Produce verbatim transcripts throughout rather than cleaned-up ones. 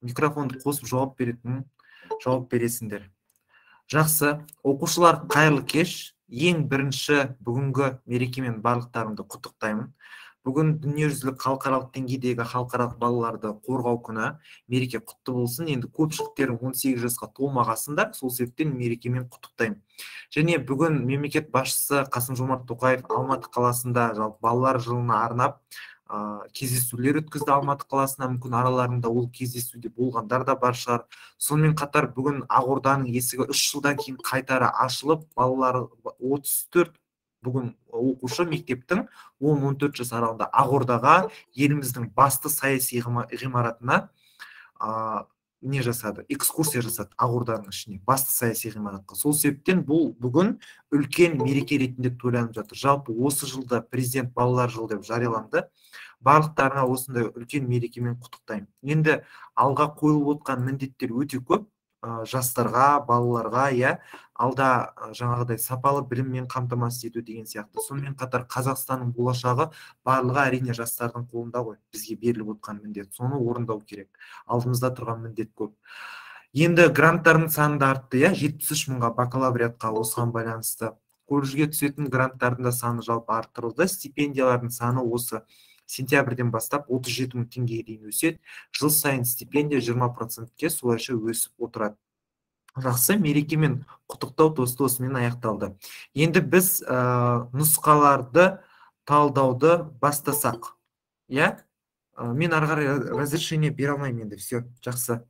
микрофонды қосып жауап беретін жауап бересіңдер. Жақсы, оқушылар, қайырлы кеш. Ең бірінші бүгінгі мерекемен барлықтарыңды құттықтаймын. Бүгін дүниежүзілік халықаралық деңгейдегі халықаралық балаларды қорғау күні. Мереке құтты болсын. Енді көпшіліктерің он сегіз жасқа толмағасындар, сол себептен мерекемен құттықтаймын. Және бүгін мемлекет басшысы Қасым-Жомарт Тоқаев Алматы қаласында жалпы балалар жылына арнап кездесулер өткізді. Алматы қаласына, мүмкін араларында ол кездесуде болғандар да бар шығар. Сонымен қатар бүгін Ақорданың есігі үш жылдан кейін қайтара ашылып, балалар отыз төрт бүгін оқушы мектептің он он төрт жас аралығында Ақордаға, еліміздің басты саяси ғимаратына не жасады, экскурсия жасады Ақорданың ішіне, басты саяси ғимаратқа. Сол себептен бұл бүгін үлкен мереке ретінде тойланып жатыр. Жалпы осы жылда президент балалар жылы деп жарияланды. Барлықтарына осындай үлкен мерекемен құттықтаймын. Енді алға қойылып отқан міндеттер өте көп. Жастарға, балаларға, я алда жаңағыдай сапалы біліммен қамтамасыз ету деген сияқты. Сонымен қатар Қазақстанның болашағы барлығы әрине жастардың қолында ғой. Бізге беріліп отқан міндет, соны орындау керек. Алдымызда тұрған міндет көп. Енді гранттардың саны да артты, я жетпіс үш мыңға бакалавриатқа осыған байланысты. Колледжге түсетін гранттардың да саны жалпы арттырылды. Стипендиялардың саны осы сентябрьден бастап отыз жеті мың теңгеге дейін өседі. Жыл сайын стипендия жиырма процентке солайша өсіп отырады. Жақсы, мерекемен құттықтау тосты осымен аяқталды. Енді біз нұсқаларды талдауды бастасақ. Я? Мен ары қарай разрешение бере алмаймын енді. Все, жақсы.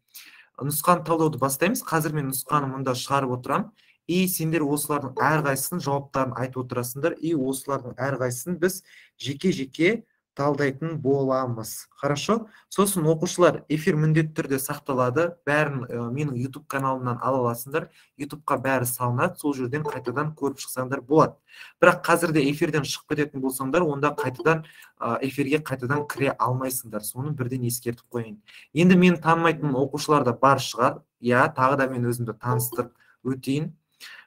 Нұсқаны талдауды бастаймыз. Қазір мен нұсқаны мұнда шығарып отырамын. И сендер осылардың әрқайсысын жауаптарын айтып отырасыңдар. И осылардың әрқайсысын біз жеке-жеке талдайтын боламыз. Хорошо? Сосын оқушылар, эфир міндетті түрде сақталады. Бәрін менің YouTube каналымнан ала аласыңдар. YouTubeқа бәрі салынады. Сол жерден қайтадан көріп шықсаңдар болады. Бірақ қазірде эфирден шығып кететін болсаңдар, онда қайтадан эфирге қайтадан кіре алмайсыңдар. Соны бірден ескертіп қойын. Енді мен танымайтын оқушылар да бар шығар. Я, тағы да мен өзімді таныстырып өтейін.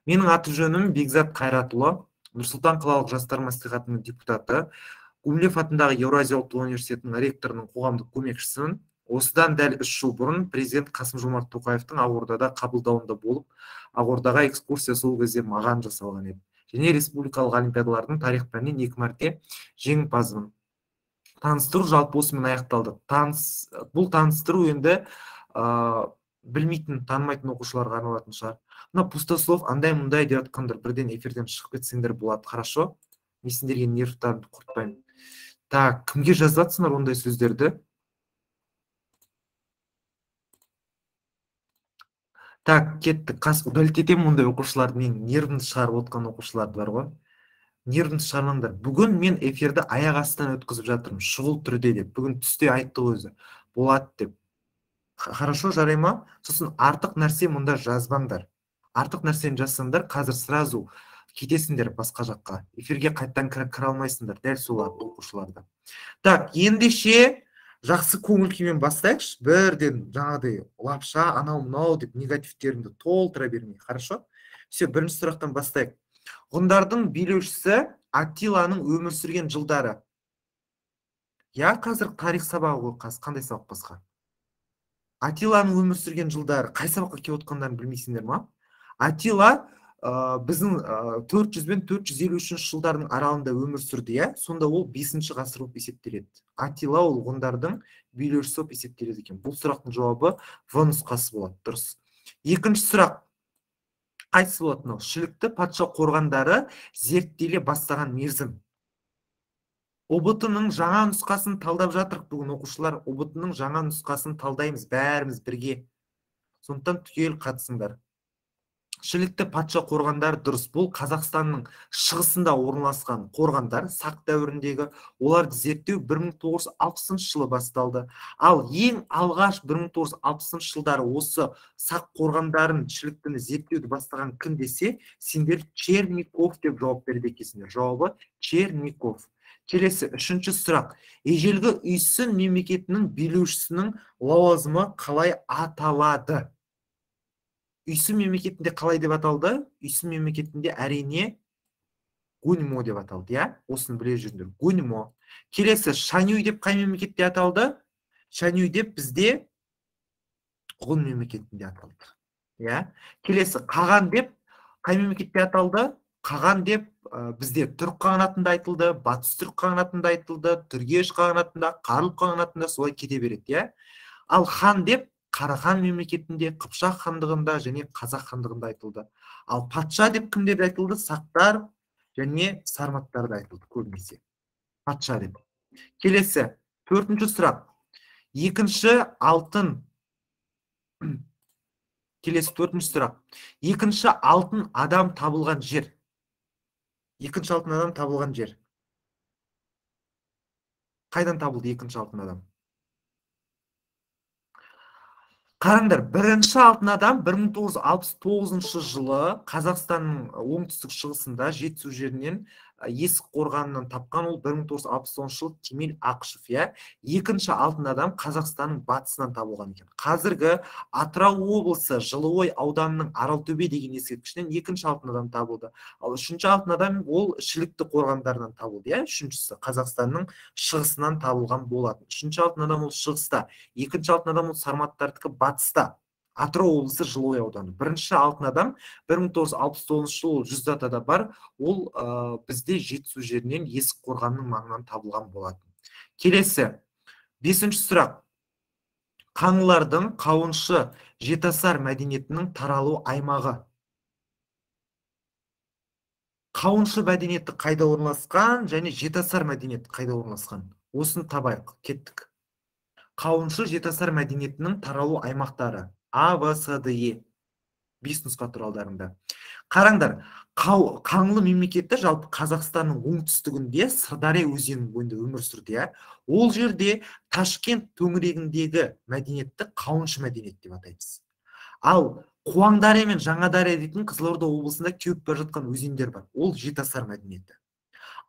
Менің аты жөнім Бекзат Қайратұлы, Нұр-Сұлтан қалалық жастар мәслихатының депутаты. Гумилев атындағы Еуразия ұлттық университетінің ректорының қоғамдық көмекшісімін. Осыдан дәл үш жыл бұрын президент Қасым-Жомарт Тоқаевтың Ақордада қабылдауында болып, Ақордаға экскурсия сол кезде маған жасалған еді. Және республикалық олимпиадалардың тарих пәнінен екі мәрте жеңімпазбын. Таныстыру жалпы осымен аяқталды. Бұл таныстыру енді білмейтін, танымайтын оқушыларға арналатын шығар. Мына пустослов андай-мұндай деп жатқандар бірден эфирден шығып кетсеңдер болады, хорошо? Мен сендерге нервтарымды құртпаймын. Так, кімге жазатсыңдар ондай сөздерді? Так, кеттік. Қас удалить етемін ондай оқушыларды. Мен нервімді шығарып отқан оқушыларды бар ғой. Нервімді шығармаңдар. Бүгін мен эфирді аяқ астынан өткізіп жатырмын. Шұғыл түрде деп. Бүгін түсте айтты өзі. Болады деп. Хорошо, жарай ма? Сосын артық нәрсе мұнда жазбаңдар. Артық нәрсені жазсаңдар, қазір сразу кетесіңдер басқа жаққа. Эфирге қайттан кіре алмайсыңдар, дәл солар оқушыларды. Так, ендеше жақсы көңіл күймен бастайықшы. Бірден жаңағыдай лапша, анау-мынау деп негативтеріңді толтыра бермей. Хорошо? Все, бірінші сұрақтан бастайық. Ғұндардың билеушісі Аттиланың өмір сүрген жылдары. Я, қазір тарих сабағы ғой, қаз, қандай сабақ басқа? Аттиланың өмір сүрген жылдары. Қай сабаққа келіп отқандарын білмейсіңдер ма? Аттила біздің төрт жүз бен төрт жүз елу үшінші жылдардың аралығында өмір сүрді, я? Сонда ол бесінші ғасыр болып есептеледі. Аттила ол ғұндардың билеушісі болып есептеледі екен. Бұл сұрақтың жауабы В нұсқасы болады, дұрыс. Екінші сұрақ. Қайсысы болады мынау? Шілікті патша қорғандары зерттеле бастаған мерзім. О Б Т-ның жаңа нұсқасын талдап жатырық бүгін оқушылар. О Б Т-ның жаңа нұсқасын талдаймыз бәріміз бірге. Сондықтан түгел қатысыңдар. Шілікті патша қорғандар дұрыс. Бұл Қазақстанның шығысында орналасқан қорғандар, сақ дәуіріндегі. Оларды зерттеу бір мың тоғыз жүз алпысыншы жылы басталды. Ал ең алғаш бір мың тоғыз жүз алпысыншы жылдары осы сақ қорғандарын, шіліктіні зерттеуді бастаған кім десе, сендер Черников деп жауап береді екенсіңдер. Жауабы Черников. Келесі, үшінші сұрақ. Ежелгі Үйсін мемлекетінің билеушісінің лауазымы қалай аталады? Үйсін мемлекетінде қалай деп аталды? Үйсін мемлекетінде әрине Гуньмо деп аталды, я? Осыны біле жүріңдер. Гуньмо. Келесі, Шанюй деп қай мемлекетте аталды? Шанюй деп бізде ғұн мемлекетінде аталды. Иә. Келесі қаған деп қай мемлекетте аталды? Қаған деп бізде түрік қағанатында айтылды, батыс түрік қағанатында айтылды, түргеш қағанатында, қарлұқ қағанатында солай кете береді, иә. Ал хан деп Қарахан мемлекетінде, Қыпшақ хандығында және Қазақ хандығында айтылды. Ал патша деп кімдерде айтылды? Сақтар және сарматтарда айтылды көбінесе. Патша деп. Келесі, төртінші сұрақ. Екінші алтын Келесі төртінші сұрақ. Екінші алтын адам табылған жер. Екінші алтын адам табылған жер. Қайдан табылды екінші алтын адам? Қараңдар, бірінші алтын адам бір мың тоғыз жүз алпыс тоғызыншы жылы Қазақстанның оңтүстік шығысында Жетісу жерінен Есік қорғанынан тапқан. Ол бір мың тоғыз жүз алпыс тоғызыншы жылы Кемел Ақышев, иә. Екінші алтын адам Қазақстанның батысынан табылған екен. Қазіргі Атырау облысы Жылыой ауданының Аралтөбе деген ескерткішінен екінші алтын адам табылды. Ал үшінші алтын адам ол Шілікті қорғандарынан табылды, иә. Үшіншісі Қазақстанның шығысынан табылған болатын. Үшінші алтын адам ол шығыста, екінші алтын адам ол сарматтардікі батыста. Атырау облысы Жылыой ауданы. Бірінші алтын адам бір мың тоғыз жүз алпыс тоғызыншы жылы жүз датада бар. Ол бізде Жетісу жерінен Есік қорғанының маңынан табылған болатын. Келесі, бесінші сұрақ. Қаңлылардың қауыншы жетасар мәдениетінің таралу аймағы. Қауыншы мәдениеті қайда орналасқан және жетасар мәдениеті қайда орналасқан? Осыны табайық, кеттік. Қауыншы жетасар мәдениетінің таралу аймақтары. А, В, С, Д, Е. Бес нұсқа туралдарында. Қараңдар, Қаңлы мемлекеті жалпы Қазақстанның оңтүстігінде Сырдария өзенінің бойында өмір сүрді, иә. Ол жерде Ташкент төңірегіндегі мәдениетті қауыншы мәдениет деп атаймыз. Ал Қуаңдария мен Жаңадария дейтін Қызылорда облысында кеуіп бара жатқан өзендер бар. Ол жетасар мәдениеті.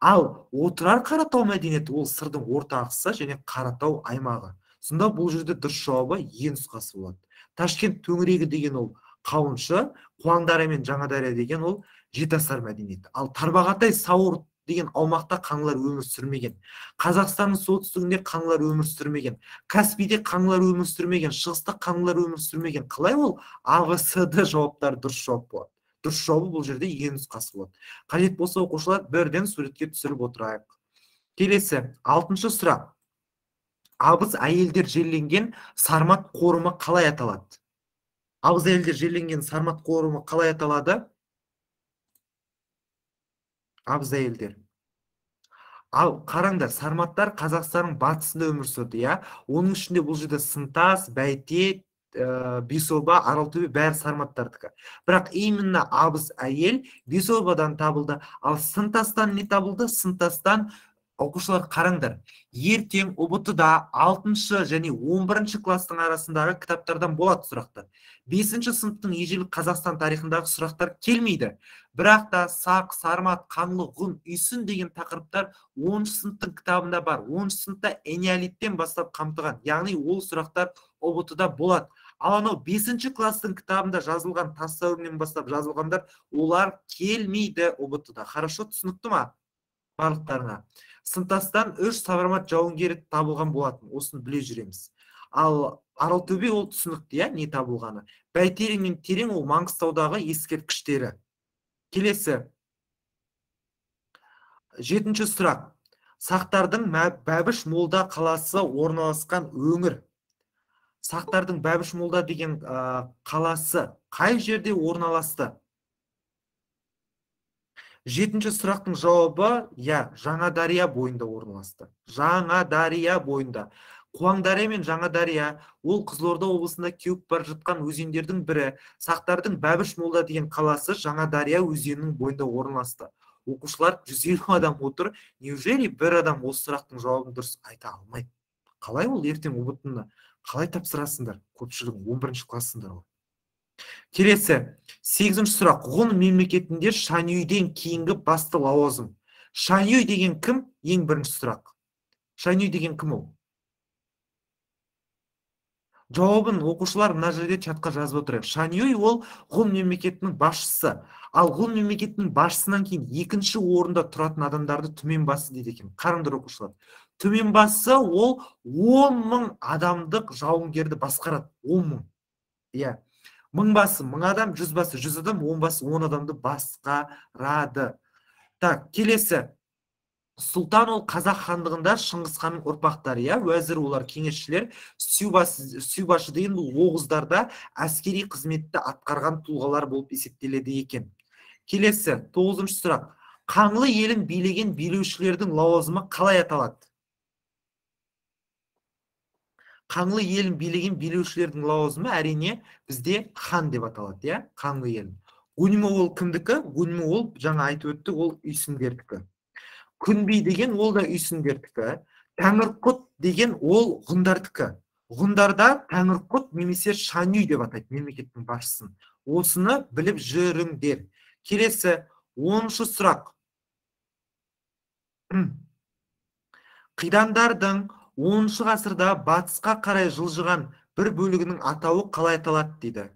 Ал Отырар Қаратау мәдениеті ол Сырдың орта ағысы және Қаратау аймағы. Сонда бұл жерде дұрыс жауабы Е нұсқасы болады. Ташкент төңірегі деген ол қауыншы, Қуаңдария мен Жаңадария деген ол жетасар мәдениеті. Ал Тарбағатай, Сауыр деген аумақта қаңлылар өмір сүрмеген. Қазақстанның солтүстігінде қаңлылар өмір сүрмеген. Каспийде қаңлылар өмір сүрмеген. Шығыста қаңлылар өмір сүрмеген. Қалай ол? А, В, С, Д жауаптары дұрыс жауап болады. Дұрыс жауабы бұл жерде Е нұсқасы болады. Қажет болса оқушылар бірден суретке түсіріп отырайық. Келесі, алтыншы сұрақ. Абыз әйелдер жерленген сармат қорымы қалай аталады? Абыз әйелдер жерленген сармат қорымы қалай аталады? Абыз әйелдер. Ал қараңдар, сарматтар Қазақстанның батысында өмір сүрді, иә. Оның ішінде бұл жерде Сынтас, Бәйтет, Бесоба, Аралтөбе бәрі сарматтардікі. Бірақ именно абыз әйел Бесобадан табылды. Ал Сынтастан не табылды? Сынтастан оқушылар қараңдар. Ертең О Б Т-да алтыншы және он бірінші кластың арасындағы кітаптардан болады сұрақтар. бесінші сыныптың ежелгі Қазақстан тарихындағы сұрақтар келмейді. Бірақ та Сақ, Сармат, Қаңлы, Ғұн, Үйсін деген тақырыптар оныншы сыныптың кітабында бар. оныншы сыныпта энеолиттен бастап қамтыған. Яғни ол сұрақтар О Б Т-да болады. Ал анау бесінші кластың кітабында жазылған, тас дәуірінен бастап жазылғандар, олар келмейді О Б Т-да. Хорошо түсінікті ма барлықтарына? Сынтастан үш сармат жауынгері табылған болатын. Осыны біле жүреміз. Ал Аралтөбе ол түсінікті, иә, не табылғаны. Бәйтерек мен Терең ол Маңғыстаудағы ескерткіштері. Келесі. Жетінші сұрақ. Сақтардың Бәбіш Молда қаласы орналасқан өңір. Сақтардың Бәбіш Молда деген қаласы қай жерде орналасты? Жетінші сұрақтың жауабы, я, Жаңадария бойында орналасты. Жаңадария бойында. Қуаңдария мен Жаңадария ол Қызылорда облысында кеуіп бар жатқан өзендердің бірі. Сақтардың Бәбіш Молда деген қаласы Жаңадария өзенінің бойында орналасты. Оқушылар жүз елу адам отыр. Неужели бір адам осы сұрақтың жауабын дұрыс айта алмайды? Қалай ол ертең О Б Т-ны қалай тапсырасыңдар? Көпшілігің он бірінші классыңдар ғой. Келесі, сегізінші сұрақ. Ғұн мемлекетінде Шанюйден кейінгі басты лауазым. Шанюй деген кім? Ең бірінші сұрақ. Шанюй деген кім ол? Жауабын оқушылар мына жерде чатқа жазып отырайық. Шанюй ол Ғұн мемлекетінің басшысы. Ал Ғұн мемлекетінің басшысынан кейін екінші орында тұратын адамдарды түменбасы дейді екен. Қараңдар оқушылар. Түменбасы ол он мың адамдық жауынгерді басқарады. он мың. Иә. Мың басы мың адам, жүз басы жүз адам, он басы он адамды басқарады. Так, келесі. Сұлтан ол қазақ хандығында Шыңғыс ханның ұрпақтары, иә, уәзір олар кеңесшілер, сүйбашы деген бұл оғыздарда әскери қызметті атқарған тұлғалар болып есептеледі екен. Келесі, тоғызыншы сұрақ. Қаңлы елін билеген билеушілердің лауазымы қалай аталады? Қаңлы елін билеген билеушілердің лауазымы әрине бізде хан деп аталады, иә, Қаңлы елін. Гуньмо ол кімдікі? Гуньмо ол жаңа айтып өттік, ол үйсіндердікі. Күнби деген ол да үйсіндердікі. Тәңірқұт деген ол ғұндардікі. Ғұндарда Тәңірқұт немесе Шанюй деп атайды мемлекеттің басшысын. Осыны біліп жүріңдер. Келесі, оныншы сұрақ. Қидандардың оныншы ғасырда батысқа қарай жылжыған бір бөлігінің атауы қалай аталады дейді.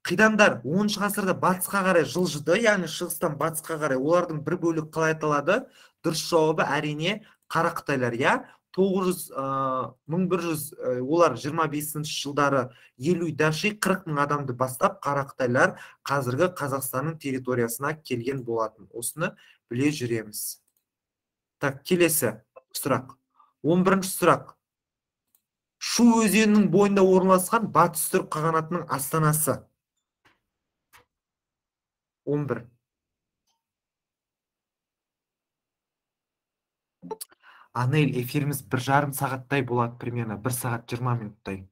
Қидандар оныншы ғасырда батысқа қарай жылжыды, яғни шығыстан батысқа қарай. Олардың бір бөлігі қалай аталады? Дұрыс жауабы әрине Қарақытайлар, иә. мың бір жүз олар жиырма бесінші жылдары елу даши қырық мың адамды бастап Қарақытайлар қазіргі Қазақстанның территориясына келген болатын. Осыны біле жүреміз. Так, келесі сұрақ. он бірінші сұрақ. Шу өзенінің бойында орналасқан Батыс түрік қағанатының астанасы. он бір. Анел, эфиріміз бір жарым сағаттай болады, примерно бір сағат жиырма минуттай.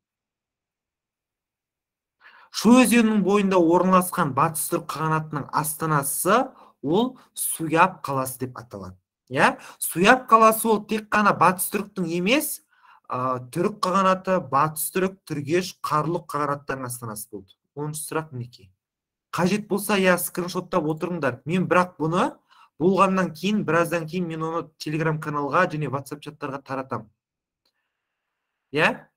Шу өзенінің бойында орналасқан Батыс түрік қағанатының астанасы ол Суяб қаласы деп аталады. Я? Суяб қаласы ол тек қана Батыс түріктің емес, түрік қағанаты, Батыс түрік, Түргеш, Қарлұқ қағанаттарының астанасы болды. оныншы сұрақ мінекей. Қажет болса, я скриншоттап отырыңдар. Мен бірақ бұны болғаннан кейін, біраздан кейін мен оны Telegram каналға және WhatsApp чаттарға таратам. Я?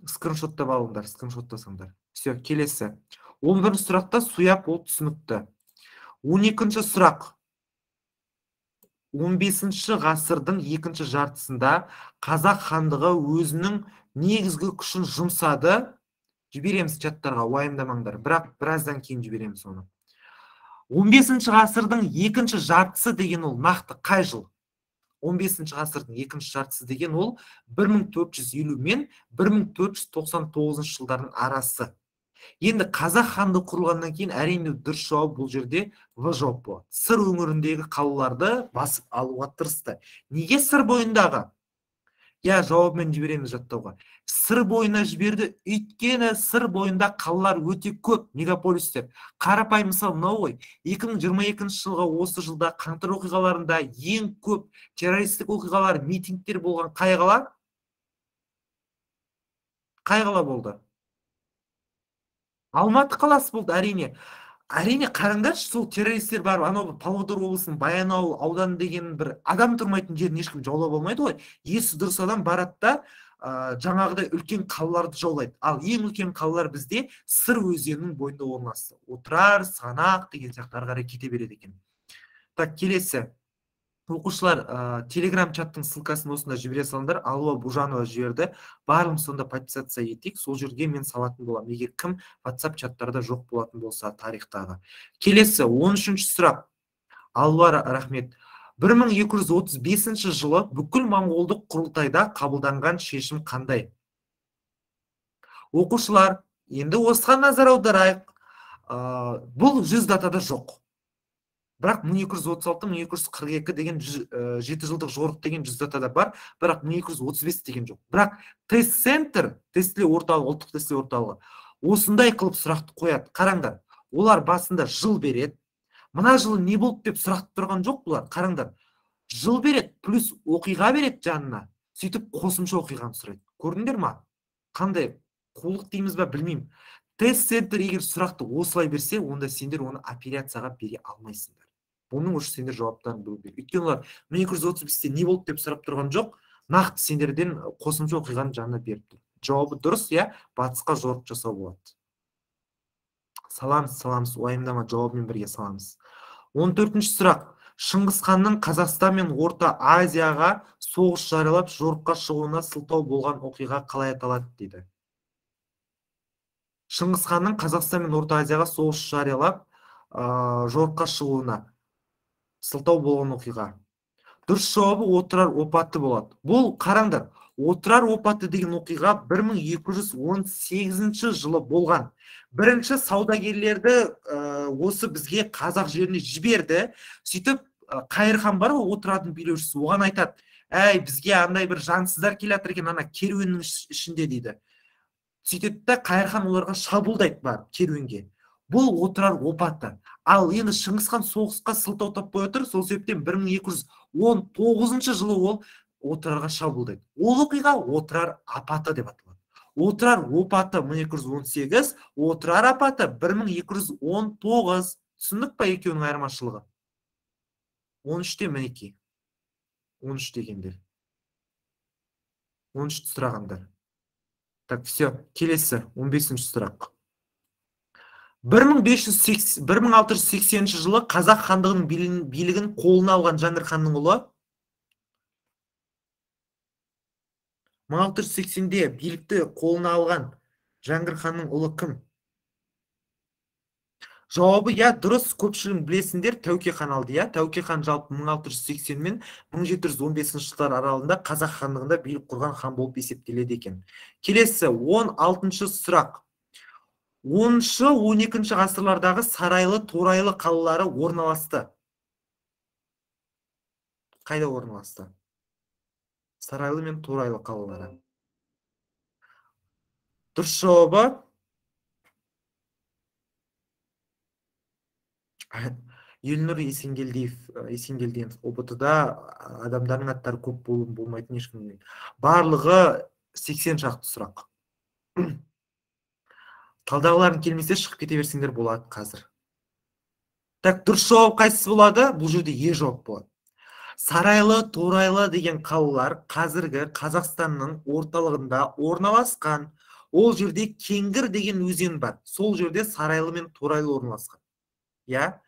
Скриншоттап алыңдар, скриншоттасаңдар. Все, келесі. он бірінші сұрақта Суяб ол түсінікті. он екінші сұрақ. он бесінші ғасырдың екінші жартысында Қазақ хандығы өзінің негізгі күшін жұмсады. Жібереміз чаттарға, уайымдамаңдар. Бірақ біраздан кейін жібереміз оны. он бесінші ғасырдың екінші жартысы деген ол нақты қай жыл? он бесінші ғасырдың екінші жартысы деген ол бір мың төрт жүз елу мен бір мың төрт жүз тоқсан тоғызыншы жылдардың арасы. Енді Қазақ хандығы құрылғаннан кейін әрине дұрыс жауап бұл жерде В жауап болады. Сыр өңіріндегі қалаларды басып алуға тырысты. Неге сыр бойындағы? Я, жауабымен жібереміз жаттауға. Сыр бойына жіберді, өйткені сыр бойында қалалар өте көп, мегаполистер. Қарапайым мысал мынау ғой. екі мың жиырма екінші жылға осы жылда қаңтар оқиғаларында ең көп террористік оқиғалар, митингтер болған қай қала? Қай қала болды? Алматы қаласы болды, әрине. Әрине, қараңдаршы, сол террористер бар, анау Павлодар облысының Баянауыл ауданы деген бір адам тұрмайтын жерін ешкім жаулап алмайды ғой. Есі дұрыс адам барады да жаңағыдай үлкен қалаларды жаулайды. Ал ең үлкен қалалар бізде Сыр өзенінің бойында орналасты. Отырар, Сығанақ деген сияқты ары қарай кете береді екен. Так, келесі. Оқушылар, Telegram чаттың ссылкасын осында жібере салыңдар. Алуа Бужанова жіберді. Барлығымыз сонда подписаться етейік. Сол жерге мен салатын боламын. Егер кім WhatsApp чаттарда жоқ болатын болса тарихтағы. Келесі, он үшінші сұрақ. Алуа рахмет. бір мың екі жүз отыз бесінші жылы бүкіл моңғолдық құрылтайда қабылданған шешім қандай? Оқушылар, енді осыған назар аударайық. Бұл жүз датада жоқ. Бірақ мың екі жүз отыз алты мың екі жүз қырық екі деген жеті жылдық жорық деген жүз датада бар, бірақ мың екі жүз отыз бес деген жоқ. Бірақ тест-центр, тестілеу орталығы, ұлттық тестілеу орталығы осындай қылып сұрақты қояды. Қараңдар, олар басында жыл береді. Мына жылы не болды деп сұрақты тұрған жоқ бұлар. Қараңдар, жыл береді, плюс оқиға береді жанына. Сөйтіп қосымша оқиғаны сұрайды. Көрдіңдер ма? Қандай қулық дейміз ба, білмеймін. Тест-центр егер сұрақты осылай берсе, онда сендер оны операцияға бере алмайсыңдар. Оның үшін сендер жауаптарын білу керек. Өйткені олар мың екі жүз отыз бесте не болды деп сұрап тұрған жоқ, нақты сендерден қосымша оқиғаны жанына беріп тұр. Жауабы дұрыс, я, батысқа жорық жасау болады. Саламыз, саламыз, уайымдама, жауабымен бірге саламыз. он төртінші сұрақ. Шыңғыс ханның Қазақстан мен Орта Азияға соғыс жариялап жорыққа шығуына сылтау болған оқиға қалай аталады дейді. Шыңғыс ханның Қазақстан мен Орта Азияға соғыс жариялап, жорыққа шығуына сылтау болған оқиға. Дұрыс жауабы отырар опаты болады. Бұл қараңдар, отырар опаты деген оқиға бір мың екі жүз он сегізінші жылы болған. Бірінші саудагерлерді осы бізге қазақ жеріне жіберді. Сөйтіп Қайыр хан бар ғой, отырардың билеушісі, оған айтады: әй, бізге андай бір жансыздар келатыр екен, ана керуеннің ішінде дейді. Сөйтеді де Қайыр хан оларға шабуылдайды бар керуенге. Бұл отырар опаты. Ал енді Шыңғыс хан соғысқа сылтау таппай отыр, сол себептен бір мың екі жүз он тоғызыншы жылы ол отырарға шабуылдайды. Ол оқиға отырар апаты деп аталады. Отырар опаты мың екі жүз он сегіз, отырар апаты бір мың екі жүз он тоғыз. Түсіндік па екеуінің айырмашылығы? он үште мінекей. он үш дегендер. он үшті сұрағандар. Так, все, келесі он бесінші сұрақ. бір мың алты жүз сексенінші жылы Қазақ хандығының билігін қолына алған Жәңгір ханның ұлы. мың алты жүз сексенде билікті қолына алған Жәңгір ханның ұлы кім? Жауабы я дұрыс, көпшілігін білесіңдер, Тәуке хан алды. Я Тәуке хан жалпы мың алты жүз сексен мен мың жеті жүз он бесінші жылдар аралығында Қазақ хандығында билік құрған хан болып есептеледі екен. Келесі он алтыншы сұрақ. оныншы он екінші ғасырлардағы Сарайлы, Торайлы қалалары орналасты. Қайда орналасты? Сарайлы мен Торайлы қалалары. Дұрыс жауабы Елнұр Есенгелдиев, Есенгелдиев о бэ тэ-да адамдардың аттары көп болмайтын ешкім білмейді. Барлығы сексен шақты сұрақ. Талдағыларын келмесе шығып кете берсеңдер болады қазір. Так, дұрыс жауап қайсысы болады? Бұл жерде е жауап болады. Сарайлы, Торайлы деген қалалар қазіргі Қазақстанның орталығында орналасқан. Ол жерде Кеңгір деген өзен бар. Сол жерде Сарайлы мен Торайлы орналасқан. Я?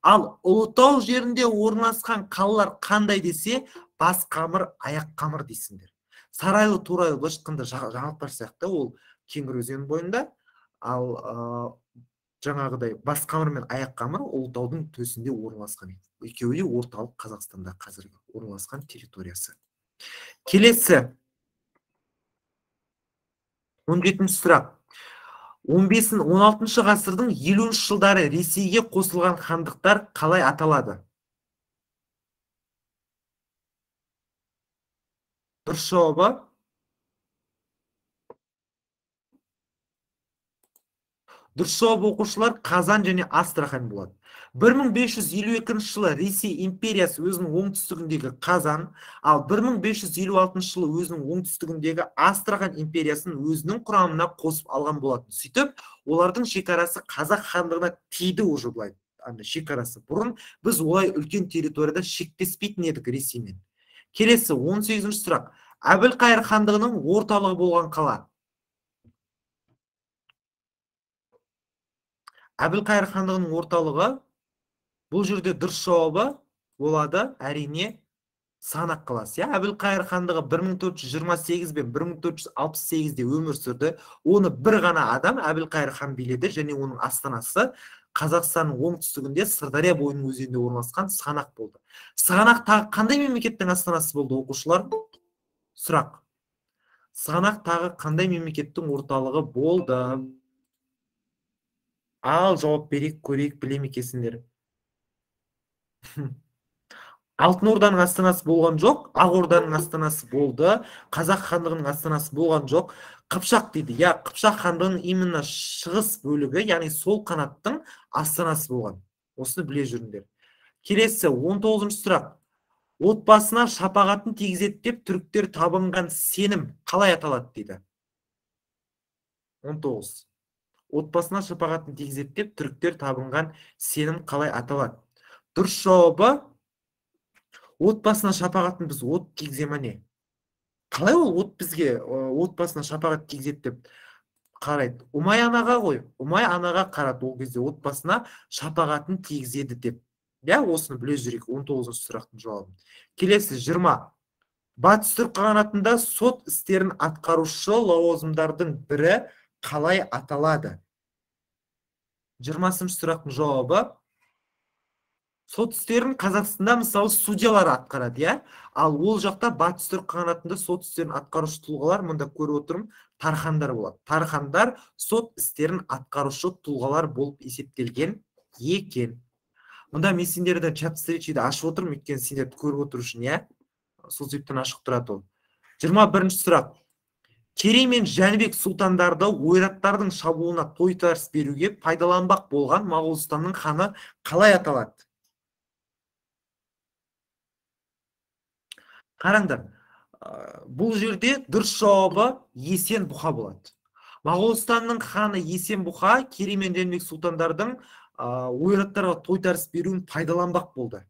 Ал Ұлытау жерінде орналасқан қалалар қандай десе, бас қамыр, аяқ қамыр дейсіңдер. Сарайлы, Торайлы былайша айтқанда жаңалықтар сияқты, ол Кеңгір өзенінің бойында. Ал жаңағыдай бас қамыр мен аяқ қамыр Ұлытаудың төсінде орналасқан. Екеуі де орталық Қазақстанда қазіргі орналасқан территориясы. Келесі он жетінші сұрақ. он бесінші он алтыншы ғасырдың елуінші жылдары Ресейге қосылған хандықтар қалай аталады? Дұрыс жауабы Дұрыс жауабы оқушылар Қазан және Астрахань болады. бір мың бес жүз елу екінші жылы Ресей империясы өзінің оңтүстігіндегі Қазан, ал бір мың бес жүз елу алтыншы жылы өзінің оңтүстігіндегі Астрахань империясын өзінің құрамына қосып алған болатын. Сөйтіп, олардың шекарасы Қазақ хандығына тиді уже былай. Шекарасы. Бұрын біз олай үлкен территорияда шектеспейтін едік Ресеймен. Келесі он сегізінші сұрақ. Әбілқайыр хандығының орталығы болған қала. Әбілқайыр хандығының орталығы, бұл жерде дұрыс жауабы болады, әрине, Сығанақ қаласы. Әбілқайыр хандығы бір мың төрт жүз жиырма сегіз бен бір мың төрт жүз алпыс сегізде өмір сүрді. Оны бір ғана адам Әбілқайыр хан биледі, және оның астанасы Қазақстанның оңтүстігінде Сырдария бойының өзенінде орналасқан Сығанақ болды. Сығанақ тағы қандай мемлекеттің астанасы болды, оқушылар? Сұрақ. Сығанақ тағы қандай мемлекеттің орталығы болды? Ал жауап берейік, көрейік, білем екесіңдер. Алтын Орданың астанасы болған жоқ, Ақ Орданың астанасы болды, Қазақ хандығының астанасы болған жоқ. Қыпшақ дейді. Я, Қыпшақ хандығының именно шығыс бөлігі, яғни сол қанаттың астанасы болған. Осыны біле жүріңдер. Келесі он тоғызыншы сұрақ. Отбасына шапағатын тигізеді деп түріктер табынған сенім қалай аталады дейді? он тоғыз. Отбасына шапағатын тигізеді деп түріктер табынған сенім қалай аталады? Дұрыс жауабы, отбасына шапағатын біз от тигіземе не? Қалай ол от бізге отбасына шапағат тигізеді деп қарайды? Ұмай анаға ғой, Ұмай анаға қарады ол кезде отбасына шапағатын тигізеді деп. Я, осыны біле жүрейік, он тоғызыншы сұрақтың жауабын. Келесі жиырма. Батыс түрік қағанатында сот істерін атқарушы лауазымдардың бірі қалай аталады? жиырмасыншы сұрақтың жауабы сот істерін Қазақстанда мысалы судьялар атқарады, иә? Ал ол жақта батыс түрік қағанатында сот істерін атқарушы тұлғалар, мұнда көріп отырмын, тархандар болады. Тархандар сот істерін атқарушы тұлғалар болып есептелген екен. Мұнда мен сендерді чат встречиді ашып отырмын, өйткені сендерді көріп отыру үшін, иә? Сол себептен ашық тұрады ол. жиырма бірінші сұрақ. Керей мен Жәнібек сұлтандарды ойраттардың шабуылына тойтарыс беруге пайдаланбақ болған Моғолстанның ханы қалай аталады? Қараңдар, бұл жерде дұрыс жауабы Есен-Бұқа болады. Моғолстанның ханы Есен-Бұқа Керей мен Жәнібек сұлтандардың ойраттарға тойтарыс беруін пайдаланбақ болды.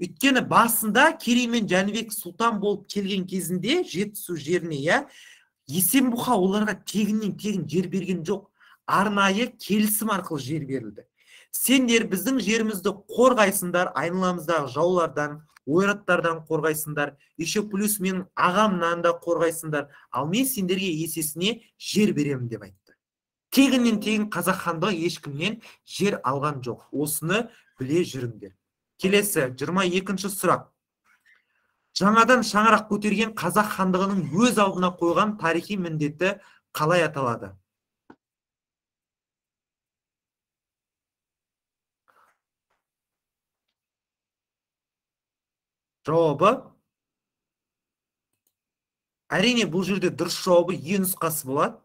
Өйткені басында Керей мен Жәнібек сұлтан болып келген кезінде Жетісу жеріне, иә, Есен-Бұқа оларға тегіннен тегін жер берген жоқ, арнайы келісім арқылы жер берілді. Сендер біздің жерімізді қорғайсыңдар, айналамыздағы жаулардан, ойраттардан қорғайсыңдар, еще плюс менің ағамнан да қорғайсыңдар, ал мен сендерге есесіне жер беремін деп айтты. Тегіннен тегін қазақ хандығы ешкімнен жер алған жоқ. Осыны біле жүріңдер. Келесі жиырма екінші сұрақ. Жаңадан шаңырақ көтерген қазақ хандығының өз алдына қойған тарихи міндеті қалай аталады? Жауабы әрине бұл жерде дұрыс жауабы Е нұсқасы болады.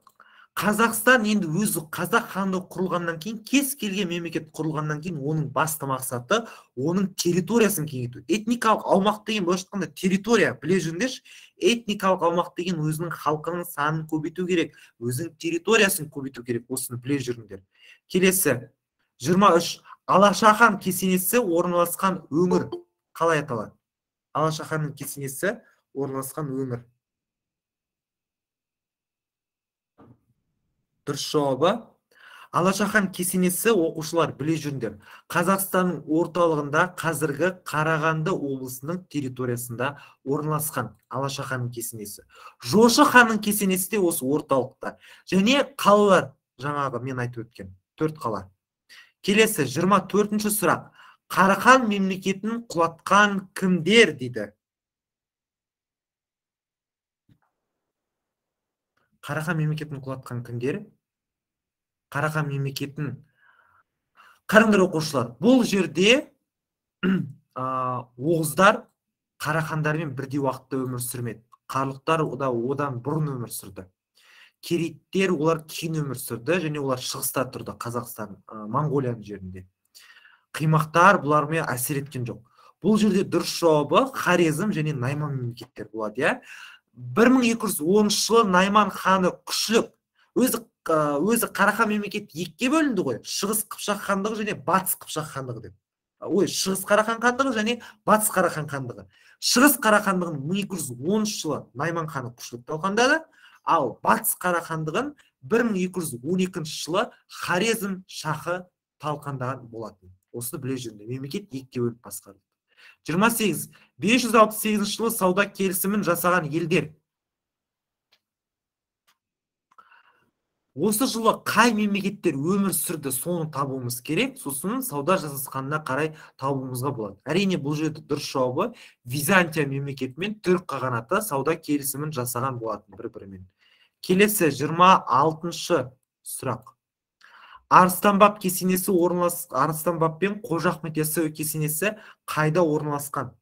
Қазақстан енді өзі қазақ хандығы құрылғаннан кейін, кез келген мемлекет құрылғаннан кейін, оның басты мақсаты оның территориясын кеңейту. Этникалық аумақ деген былайша айтқанда территория, біле жүріңдерші, этникалық аумақ деген өзінің халқының санын көбейту керек, өзінің территориясын көбейту керек. Осыны біле жүріңдер. Келесі жиырма үш. Алашахан кесенесі орналасқан өңір қалай аталады? Алашаханның кесенесі орналасқан өңір. Дұрыс жауабы Алашахан кесенесі, оқушылар біле жүріңдер, Қазақстанның орталығында қазіргі Қарағанды облысының территориясында орналасқан Алашаханның кесенесі. Жошы ханның кесенесі де осы орталықта. Және қалалар, жаңағы мен айтып өткен төрт қала. Келесі жиырма төртінші сұрақ. Қарахан мемлекетін құлатқан кімдер дейді? Қарахан мемлекетін құлатқан кімдер? Қарахан мемлекетін. Қараңдар оқушылар, бұл жерде оғыздар қарахандармен бірдей уақытта өмір сүрмеді. Қарлықтар одан бұрын өмір сүрді. Керейттер олар кейін өмір сүрді, және олар шығыста тұрды, Қазақстан, Монғолияның жерінде. Қимақтар бұлармен әсер еткен жоқ. Бұл жерде дұрыс жауабы Хорезм және Найман мемлекеттер болады, иә. бір мың екі жүз оныншы жылы Найман ханы күшілік, өзі өзі Қарахан мемлекеті екіге бөлінді ғой. Шығыс Қыпшақ хандығы және Батыс Қыпшақ хандығы деп. Ой, Шығыс Қарахан хандығы және Батыс Қарахан хандығы. Шығыс Қарахандығын мың екі жүз оныншы жылы Найман ханы күшілік талқандады, ал Батыс Қарахандығын бір мың екі жүз он екінші жылы Хорезм шахы талқандаған болатын. Осыны біле жүріңдер. Мемлекет екіге бөлініп басқарылды. жиырма сегіз. бес жүз алпыс сегізінші жылы сауда келісімін жасаған елдер. Осы жылы қай мемлекеттер өмір сүрді, соны табуымыз керек, сосын сауда жасасқанына қарай табуымызға болады. Әрине бұл жерде дұрыс жауабы Византия мемлекетімен түрік қағанаты сауда келісімін жасаған болатын бір-бірімен. Келесі жиырма алтыншы сұрақ. Арыстан баб кесенесі орналасқан, Арыстан баб пен Қожа Ахмет Яссауи кесенесі қайда орналасқан?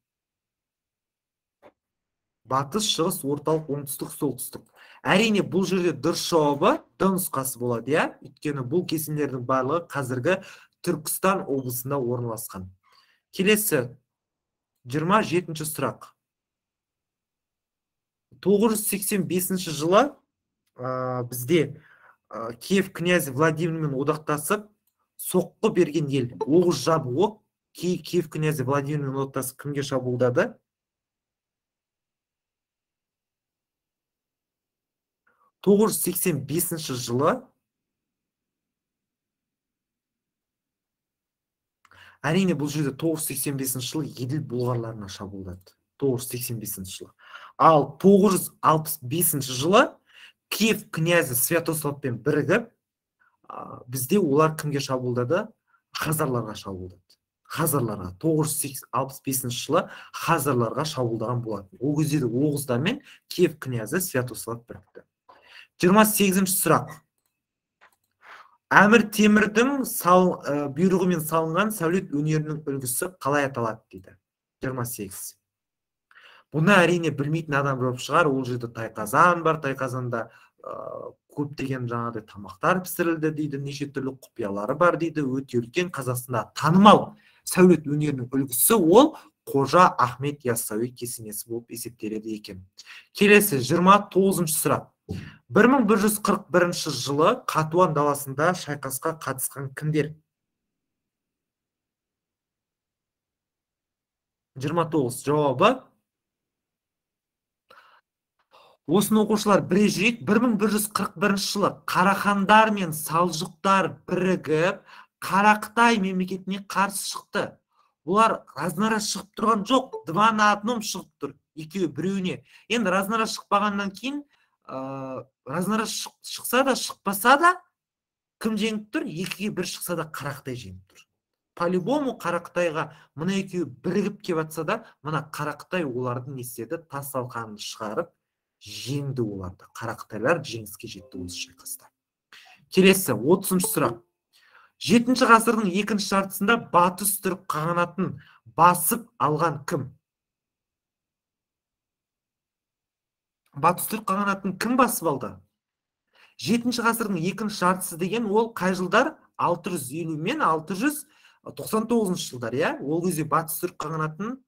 Батыс, шығыс, орталық, оңтүстік, солтүстік. Әрине бұл жерде дұрыс жауабы Д нұсқасы болады, иә? Өйткені бұл кесенелердің барлығы қазіргі Түркістан облысында орналасқан. Келесі жиырма жетінші сұрақ. тоғыз жүз сексен бесінші жылы бізде Киев князі Владимирмен одақтасып соққы берген ел, оғыз жабуы, Киев князі Владимирмен одақтасып кімге шабуылдады? тоғыз жүз сексен бесінші жылы әрине бұл жерде тоғыз жүз сексен бесінші жылы Еділ бұлғарларына шабуылдады. тоғыз жүз сексен бесінші жылы. Ал тоғыз жүз алпыс бесінші жылы Киев князі Святославпен бірігіп Бізде олар кімге шабуылдады? Хазарларға шабуылдады. Хазарларға тоғыз жүз алпыс бесінші жылы хазарларға шабуылдаған болатын. Ол кезде де оғыздармен Киев князі Святослав бірікті. жиырма сегізінші сұрақ. Әмір Темірдің сал, ә, бұйрығымен салынған сәулет өнерінің үлгісі қалай аталады дейді. жиырма сегіз. Бұны әрине білмейтін адам болып шығар. Ол жерде тайқазан бар, тайқазанда ә, көптеген жаңағыдай тамақтар пісірілді дейді, неше түрлі құпиялары бар дейді. Өте үлкен Қазақстанда танымал сәулет өнерінің үлгісі ол Қожа Ахмет Яссауи кесенесі болып есептеледі екен. Келесі жиырма тоғызыншы сұрақ. бір мың бір жүз қырық бірінші жылы Қатуан даласында шайқасқа қатысқан кімдер? жиырма тоғыз. Жауабы осыны оқушылар біле жүрейік. бір мың бір жүз қырық бірінші жылы Қарахандар мен Салжұқтар бірігіп Қарақытай мемлекетіне қарсы шықты. Олар разнара шығып тұрған жоқ, два на одном шығып тұр, екеуі біреуіне. Енді разнара шықпағаннан кейін, ә, разнара шықса да, шықпаса да, кім жеңіп тұр? Екіге бір шықса да Қарақытай жеңіп тұр. По-любому Қарақытайға мына екеуі бірігіп кеп атса да, мына Қарақытай олардың не істеді? Тас талқанын шығарып, жеңді оларды. Қарақытайлар жеңіске жетті осы шайқаста. Келесі отызыншы сұрақ. жетінші ғасырдың екінші жартысында батыс түрік қағанатын басып алған кім? Батыс түрік қағанатын кім басып алды? жетінші ғасырдың екінші жартысы деген ол қай жылдар? алты жүз елу мен алты жүз тоқсан тоғызыншы жылдар, иә? Ол кезде батыс түрік қағанатын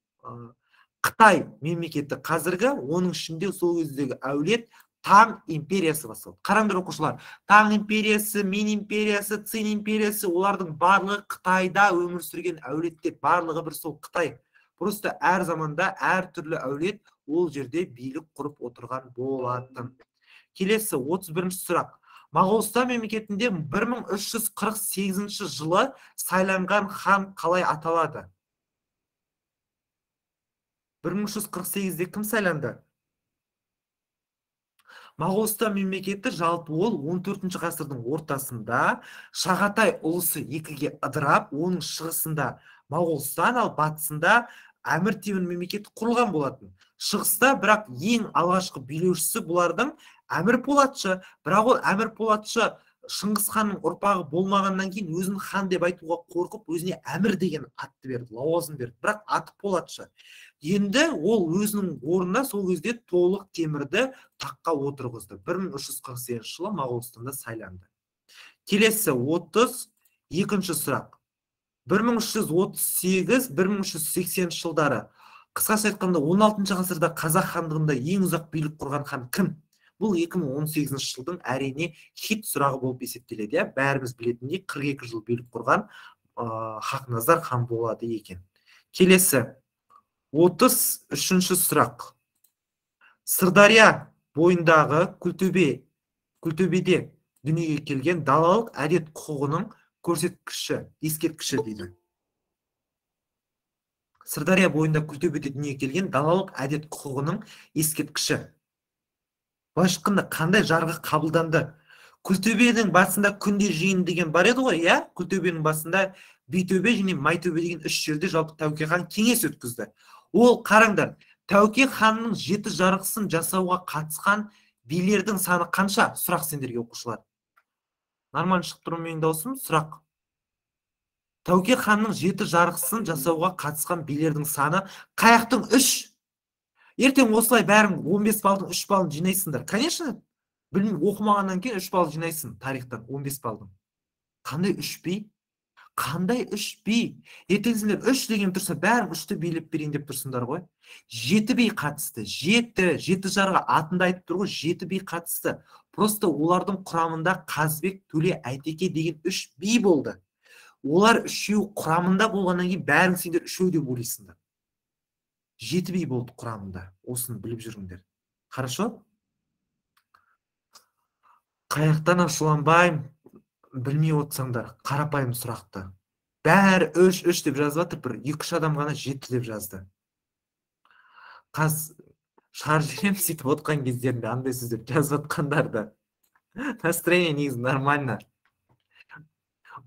Қытай мемлекеті қазіргі, оның ішінде сол кездегі әулет Таң империясы басталды. Қараңдар оқушылар, Таң империясы, Мин империясы, Цин империясы, олардың барлығы Қытайда өмір сүрген әулеттер, барлығы бір сол Қытай. Просто әр заманда әр түрлі әулет ол жерде билік құрып отырған болатын. Келесі отыз бірінші сұрақ. Моғолстан мемлекетінде бір мың үш жүз қырық сегізінші жылы сайланған хан қалай аталады? бір мың үш жүз қырық сегізде кім сайланды? Моғолстан мемлекеті жалпы ол он төртінші ғасырдың ортасында Шағатай ұлысы екіге ыдырап, оның шығысында Моғолстан, ал батысында Әмір Темір мемлекеті құрылған болатын. Шығыста бірақ ең алғашқы билеушісі бұлардың Әмір Полатшы, бірақ ол Әмір Полатшы Шыңғыс ханның ұрпағы болмағаннан кейін өзін хан деп айтуға қорқып, өзіне Әмір деген атты берді, лауазым берді, бірақ аты Полатшы. Енді ол өзінің орнына сол кезде Толық Темірді таққа отырғызды. бір мың үш жүз қырық сегізінші жылы Моғолстанда сайланды. Келесі отыз екінші сұрақ. бір мың үш жүз отыз сегіз - бір мың үш жүз сексенінші жылдары. Қысқаша айтқанда он алтыншы ғасырда Қазақ хандығында ең ұзақ билік құрған хан кім? Бұл екі мың он сегізінші жылдың әрине хит сұрағы болып есептеледі. Иә, бәріміз білетіндей қырық екі жыл билік құрған Хақназар хан болады екен. Келесі отыз үшінші сұрақ. Сырдария бойындағы Күлтөбе, Күлтөбеде дүниеге келген далалық әдет құқығының көрсеткіші, ескерткіші дейді. Сырдария бойында Күлтөбеде дүниеге келген далалық әдет құқығының ескерткіші. Былай шыққанда қандай жарғы қабылданды? Күлтөбенің басында күнде жиын деген бар еді ғой, иә? Күлтөбенің басында Битөбе және Майтөбе деген үш жерде жалпы Тәуке хан кеңес өткізді. Ол қараңдар, Тәуке ханның жеті жарғысын жасауға қатысқан билердің саны қанша? Сұрақ сендерге оқушылар. Нормально шығып тұр менің даусым? Сұрақ. Тәуке ханның жеті жарғысын жасауға қатысқан билердің саны қаяқтың үш? Ертең осылай бәрің он бес балдың үш балын жинайсыңдар. Конечно, білмеймін, оқымағаннан кейін үш бал жинайсың тарихтан, он бес балдың. Қандай үш би? Қандай үш би? Ертең сендер үш деген тұрса, бәрің үшті билеп берейін деп тұрсыңдар ғой. Жеті би қатысты. Жеті, жеті жарға атында айтып тұр ғой, жеті би қатысты. Просто олардың құрамында Қазбек, Төле, Әйтеке деген үш би болды. Олар үшеу құрамында болғаннан кейін бәрің сендер үшеу деп ойлайсыңдар. Жеті би болды құрамында. Осыны біліп жүріңдер. Хорошо? Қаяқтан ашуланбаймын, білмей отсаңдар, қарапайым сұрақты. Бәрі үш, үш деп жазып жатыр, бір екі үш адам ғана жеті деп жазды. Қаз шар жерем сөйтіп отқан кездерінде андай сөздер жазып отқандарды. Настроение негізі нормально.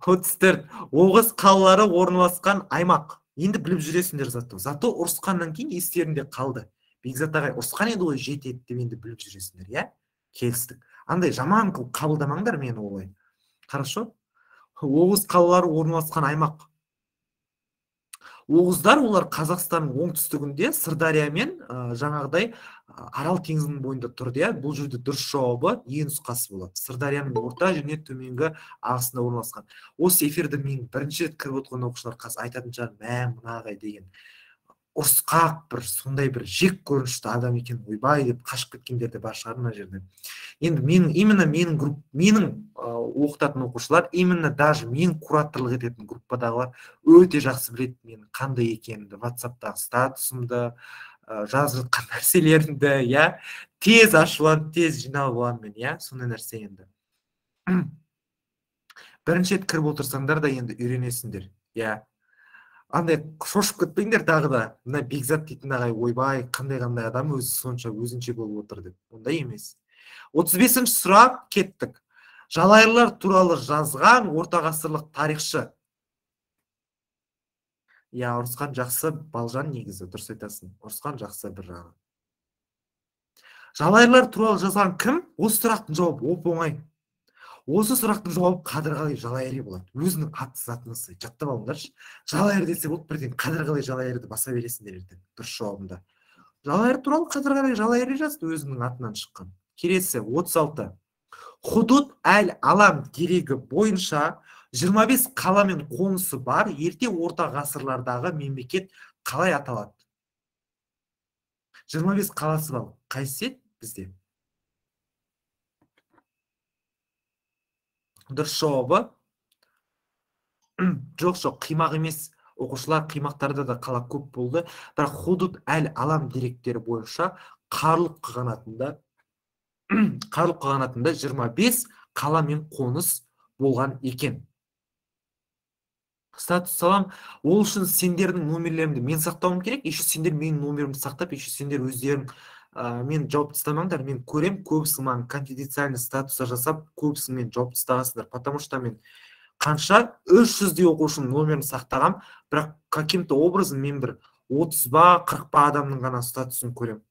отыз төрт. Оғыз қалалары орналасқан аймақ. Енді біліп жүресіңдер зато. Зато ұрысқаннан кейін естерінде қалды. Бекзат ағай ұрысқан еді ғой жетеді деп енді біліп жүресіңдер, иә? Келістік. Андай жаман қылып қабылдамаңдар мені олай. Хорошо? Оғыз қалалары орналасқан аймақ. Оғыздар олар Қазақстанның оңтүстігінде Сырдария мен жаңағыдай Арал теңізінің бойында тұрды, иә. Бұл жерде дұрыс жауабы Е нұсқасы болады. Сырдарияның орта және төменгі ағысында орналасқан. Осы эфирді мен бірінші рет кіріп отырған оқушылар қазір айтатын шығар, мә мына ағай деген ұрысқақ бір сондай бір жек көрінішті адам екен, ойбай деп қашып кеткендер де бар шығар мына жерде. Енді менің именно менің групп менің оқытатын оқушылар, именно даже мен кураторлық ететін группадағылар өте жақсы біледі менің қандай екенімді, WhatsApp-тағы статусымды, жазып жатқан нәрселерімді, иә, тез ашуланып, тез жиналып аламын мен, иә, сондай нәрсе енді. Бірінші рет кіріп отырсаңдар да енді үйренесіңдер, иә. Андай шошып кетпеңдер тағы да, мына Бекзат дейтін ағай ойбай, қандай-қандай адам өзі сонша өзінше болып отыр деп. Ондай емес. отыз бесінші сұрақ, кеттік. Жалайырлар туралы жазған ортағасырлық тарихшы. Я, ұрысқан жақсы Балжан негізі, дұрыс айтасың. Ұрысқан жақсы бір жағы. Жалайырлар туралы жазған кім? Осы сұрақтың жауабы оп-оңай. Осы сұрақтың жауабы Қадырғали Жалайыри болады. Өзінің аты затынысы жаттап алыңдаршы. Жалайыр десе болды, бірден Қадырғали Жалайырды баса бересіңдер ертең. Дұрыс жауабында. Жалайыр туралы Қадырғали Жалайыри жазды, өзінің атынан шыққан. Келесі отыз алты. Худуд әл-Алам дерегі бойынша жиырма бес қала мен қонысы бар ерте орта ғасырлардағы мемлекет қалай аталады? жиырма бес қаласы бар. Қайсы бізде? Дұрыс жауабы жоқ, жоқ, қимақ емес. Оқушылар қимақтарда да қала көп болды. Бірақ Худуд әл-Алам деректері бойынша Қарлұқ қағанатында Қарлұқ қағанатында жиырма бес қала мен қоныс болған екен. Статус салам, ол үшін сендердің номерлерімді мен сақтауым керек, еще сендер менің номерімді сақтап, еще сендер өздерің мен жауап тастамаңдар, мен көрем, көбісі маған конфиденциальный статуса жасап, көбісі мен жауап тастағансыңдар, потому что мен қанша үш жүздей оқушының номерін сақтағам, бірақ каким-то образом мен бір отыз ба қырық ба адамның ғана статусын көрем.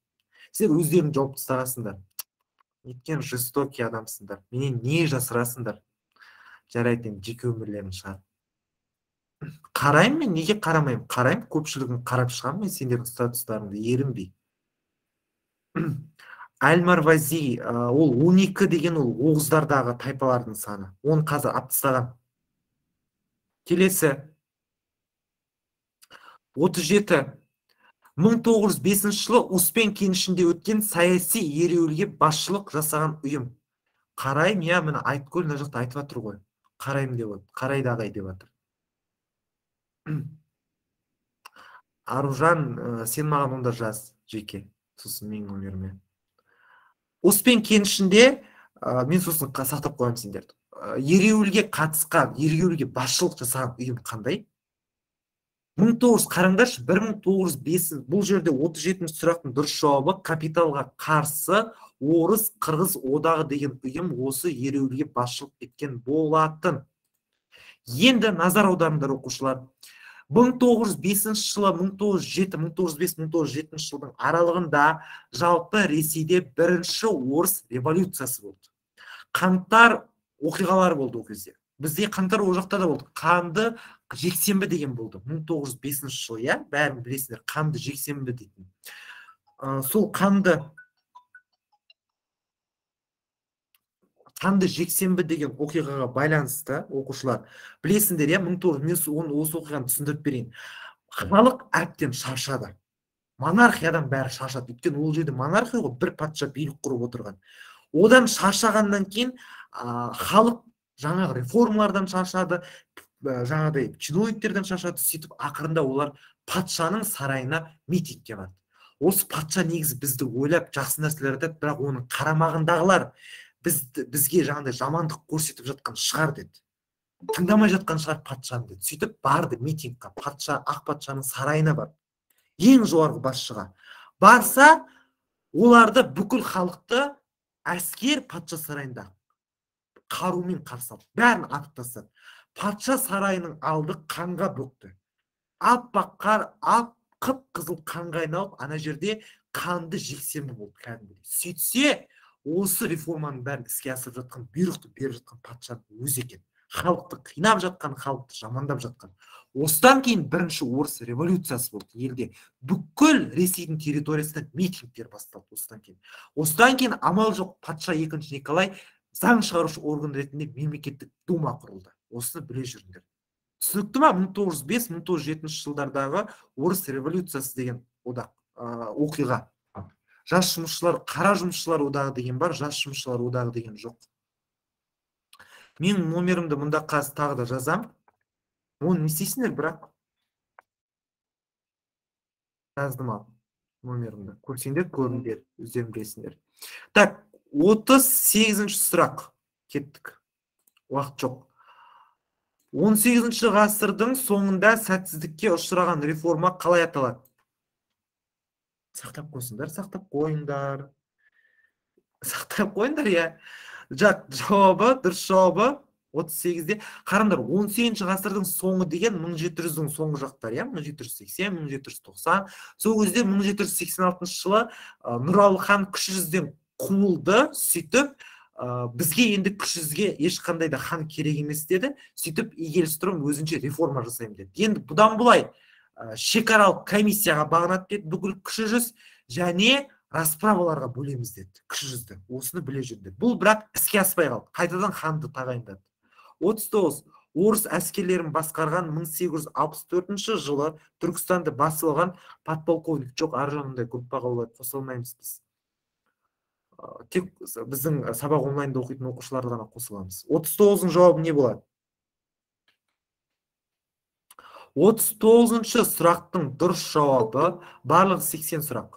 Сендер өздерің жауап тастағансыңдар. Неткен жестокий адамсыңдар. Менен не жасырасыңдар? Жарайды, жеке өмірлерін шығар. Қараймын мен, неге қарамаймын? Қараймын, көпшілігін қарап шығамын мен сендердің статустарыңды, ерінбей. Әл-Марвази, ол он екі деген ол оғыздардағы тайпалардың саны. Оны қазір алып тастаған. Келесі отыз жеті. мың тоғыз жүз бесінші жылы Успен кенішінде өткен саяси ереуілге басшылық жасаған ұйым. Қараймын, я мені Айткөл мына жақта айтып жатыр ғой. Қараймын деп отыр. Қарайды ағай деп жатыр. Аружан, сен маған онда жаз жеке. Сосын менің номеріме. Успен кенішінде, мен сосын сақтап қоямын сендерді. Ереуілге қатысқан, ереуілге басшылық жасаған ұйым қандай? мың тоғыз жүз қараңдаршы, бір мың тоғыз жүз бес, бұл жерде отыз жетінші сұрақтың дұрыс жауабы капиталға қарсы орыс қырғыз одағы деген ұйым осы ереуілге басшылық еткен болатын. Енді назар аударыңдар оқушылар. мың тоғыз жүз бесінші жылы, мың тоғыз жүз жеті, мың тоғыз жүз бес, мың тоғыз жүз жетінші жылдың аралығында жалпы Ресейде бірінші орыс революциясы болды. Қаңтар оқиғалары болды ол кезде. Бізде қаңтар ол жақта да болды. Қанды жексенбі деген болды. мың тоғыз жүз бесінші жыл, иә, бәрін білесіңдер, қанды жексенбі дейтін. Сол қанды қанды жексенбі деген оқиғаға байланысты оқушылар білесіңдер, иә, мың тоғыз жүз, мен осы оқиғаны түсіндіріп берейін. Халық әбден шаршады. Монархиядан бәрі шаршады. Өйткені ол жерде монархия ғой, бір патша билік құрып отырған. Одан шаршағаннан кейін халық жаңағы реформалардан шаршады, жаңағыдай чиновниктерден шаршады, сөйтіп ақырында олар патшаның сарайына митингке барды. Осы патша негізі бізді ойлап жақсы нәрселер айтады, бірақ оның қарамағындағылар бізге жаңағыдай жамандық көрсетіп жатқан шығар деді. Тыңдамай жатқан шығар патшаны деді. Сөйтіп барды митингқа, патша, ақ патшаның сарайына барды. Ең жоғарғы басшыға барса, оларды бүкіл халықты әскер патша сарайында қарумен қарсы алды, бәрін атып тастады. Патша сарайының алды қанға бөкті. Аппақ қар, ап қып-қызыл қанға айналып, ана жерде қанды жексенбі болды кәдімгідей. Сөйтсе, осы реформаның бәрін іске асырып жатқан, бұйрықты беріп жатқан патшаның өзі екен. Халықты қинап жатқан, халықты жамандап жатқан. Осыдан кейін бірінші орыс революциясы болды елде. Бүкіл Ресейдің территориясында митингтер басталды осыдан кейін. Осыдан кейін амал жоқ, патша екінші Николай заң шығарушы орган ретінде мемлекеттік дума құрылды. Осыны біле жүріңдер. Түсінікті ма? мың тоғыз жүз бес мың тоғыз жүз жетінші жылдардағы орыс революциясы деген одақ оқиға. Жас жұмысшылар, қара жұмысшылар одағы деген бар, жас жұмысшылар одағы деген жоқ. Мен номерімді мұнда қазір тағы да жазам. Оны не істейсіңдер, бірақ жаздым ал номерімді. Көрсеңдер, көріңдер, өздерің білесіңдер. Так, отыз сегізінші сұрақ. Кеттік. Уақыт жоқ. он сегізінші ғасырдың соңында сәтсіздікке ұшыраған реформа қалай аталады? Сақтап қойсыңдар, сақтап қойыңдар. Сақтап қойыңдар, я. Жақ, жауабы, дұрыс жауабы отыз сегізде. Қараңдар, он сегізінші ғасырдың соңы деген мың жеті жүздің соңғы жақтар, я, мың жеті жүз сексен, мың жеті жүз тоқсан. Сол кезде мың жеті жүз сексен алтыншы жылы Нұралы хан кіші жүзден қуылды, сөйтіп бізге енді кіші жүзге ешқандай да хан керек емес деді. Сөйтіп Игельстром өзінше реформа жасаймын деді. Енді бұдан бұлай шекаралық комиссияға бағынады деді, бүкіл кіші жүз, және расправаларға бөлеміз деді кіші жүзді. Осыны біле жүрді. Бұл бірақ іске аспай қалды. Қайтадан ханды тағайындады. отыз тоғыз. Орыс әскерлерін басқарған мың сегіз жүз алпыс төртінші жылы Түркістанды басып алған подполковник. Жоқ, ар жағында группаға олай қоса алмаймыз біз. Тек біздің сабақ онлайнда оқитын оқушыларды ғана қосыламыз. отыз тоғыздың жауабы не болады? отыз тоғызыншы сұрақтың дұрыс жауабы барлығы сексен сұрақ.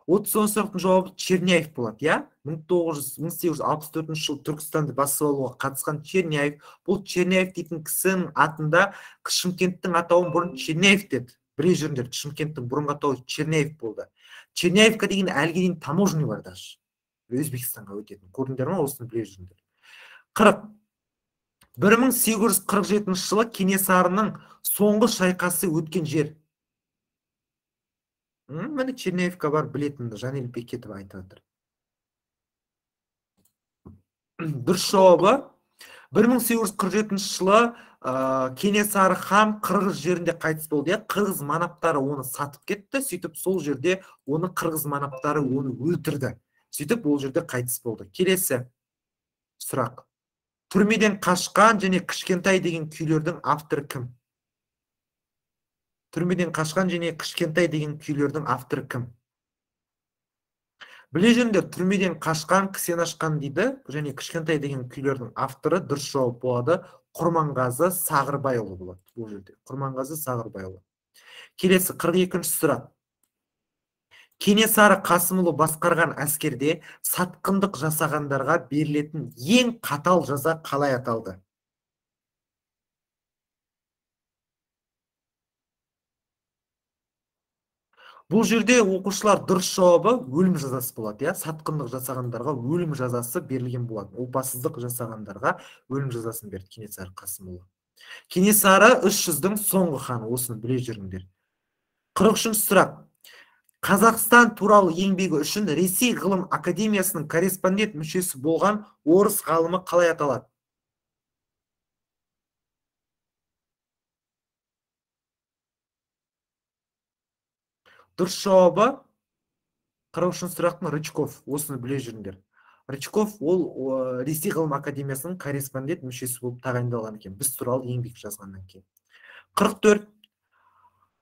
отыз тоғызыншы сұрақтың жауабы Черняев болады, я? мың сегіз жүз алпыс төртінші жылы Түркістанды басып алуға қатысқан Черняев. Бұл Черняев дейтін кісінің атында Шымкенттің атауын бұрын Черняев деді. Біле жүріңдер, Шымкенттің бұрынғы атауы Черняев болды. Черняевка деген әлге дейін таможня бар даже. Өзбекстанға өтетін. Көрдіңдер ме? Осыны біле жүріңдер. қырық. бір мың сегіз жүз қырық жетінші жылы Кенесарының соңғы шайқасы өткен жер. Мені Черняевка бар, білетінді Жанел Бекетов айтып отыр. Дұрыс жауабы бір мың сегіз жүз қырық жетінші жылы Кенесары хан Қырғыз жерінде қайтыс болды. Қырғыз манаптары оны сатып кетті, сөйтіп сол жерде оны Қырғыз манаптары оны өлтірді. Сөйтіп ол жерде қайтыс болды. Келесі сұрақ. Түрмеден қашқан және кішкентай деген күйлердің авторы кім? Түрмеден қашқан және кішкентай деген күйлердің авторы кім? Біле жүріңдер, түрмеден қашқан, кісен ашқан дейді, және кішкентай деген күйлердің авторы дұрыс жауап болады. Құрманғазы Сағырбайұлы болады бұл жерде. Құрманғазы Сағырбайұлы. Келесі қырық екінші сұрақ. Кенесары Қасымұлы басқарған әскерде сатқындық жасағандарға берілетін ең қатал жаза қалай аталды? Бұл жерде оқушылар дұрыс жауабы өлім жазасы болады, я? Сатқындық жасағандарға өлім жазасы берілген болады. Опасыздық жасағандарға өлім жазасын берді Кенесары Қасымұлы. Кенесары үш жүздің соңғы ханы, осыны біле жүріңдер. қырық үшінші сұрақ. Қазақстан туралы еңбегі үшін Ресей ғылым академиясының корреспондент мүшесі болған орыс ғалымы қалай аталады? Дұрыс жауабы қырық үшінші сұрақтың Рычков, осыны біле жүріңдер. Рычков ол Ресей ғылым академиясының корреспондент мүшесі болып тағайындалған екен, біз туралы еңбек жазғаннан кейін. қырық төрт.